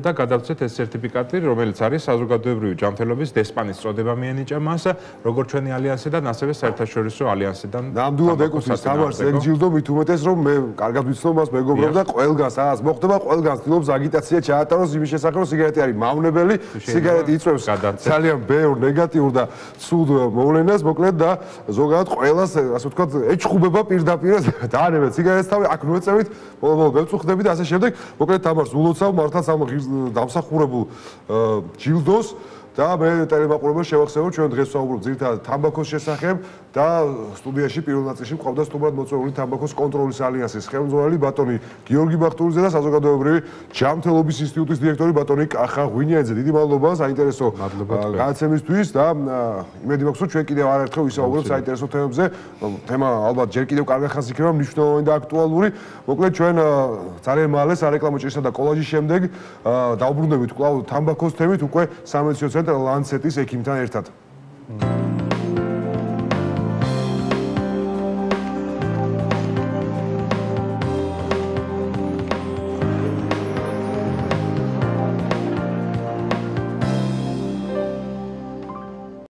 და გადავცეთ ეს სერტიფიკატი, რომელიც არის საზოგადოებრივი ჯანმრთელობის დესპანის წოდება მიენიჭა მას, როგორც ჩვენი ალიანსიდან, ასევე საერთაშორისო ალიანსიდან. ნამდვილად ეკუთვნის თამარს ეგ ჯილდო, მით უმეტეს რომ მე კარგად ვიცნობ მას მეგობრებს და ყველგანს რაღაც მოხდება, ყველგანს ცდილობს აგიტაცია ჩაატაროს იმის შესახებ, რომ სიგარეტი არის მავნებელი, სიგარეტი იწვევს ძალიან ბევრ ნეგატიურ და ცუდ მოვლენას, მოკლედ და ზოგადად ყველას, ასე ვთქვათ, ეჩხუბება პირდაპირ დაანებეთ სიგარეტს თავი, აქ მოეწევით, ბოლო-ბოლო ვეწუხდებით და ასე შემდეგ. მოკლედ თამარს ულოცავ მართლაც ამ დამსახურებულ ჯილდოს და მე ტელემაყურებელს შევახსენებ, ჩვენ დღეს ვსაუბრობთ ძირითადად თამბაქოს შესახებ და სტუდიაში პირველ ნაწილში მყავდა სტუმრად მოწვეული თამბაქოს კონტროლის ალიანსის ხელმძღვანელი ბატონი გიორგი ბახტურიძე და საზოგადოებრივი ჯანმრთელობის ინსტიტუტის დირექტორი ბატონი კახა ღვინიანიძე. დიდი მადლობა საინტერესო გადაცემისთვის და იმედი მაქვს, რომ ჩვენ კიდევ არაერთხელ ვისაუბრებთ საინტერესო თემებზე. თემა ალბათ ჯერ კიდევ კარგად ხანს იქნება მნიშვნელოვანი და აქტუალური. მოკლედ ჩვენ ძალიან მალე სარეკლამო ჭრისა და კოლაჟის შემდეგ დავბრუნდებით კვლავ თამბაქოს თემით უკვე სამედიცინო ცენტრ ლანცეტის ექიმთან ერთად.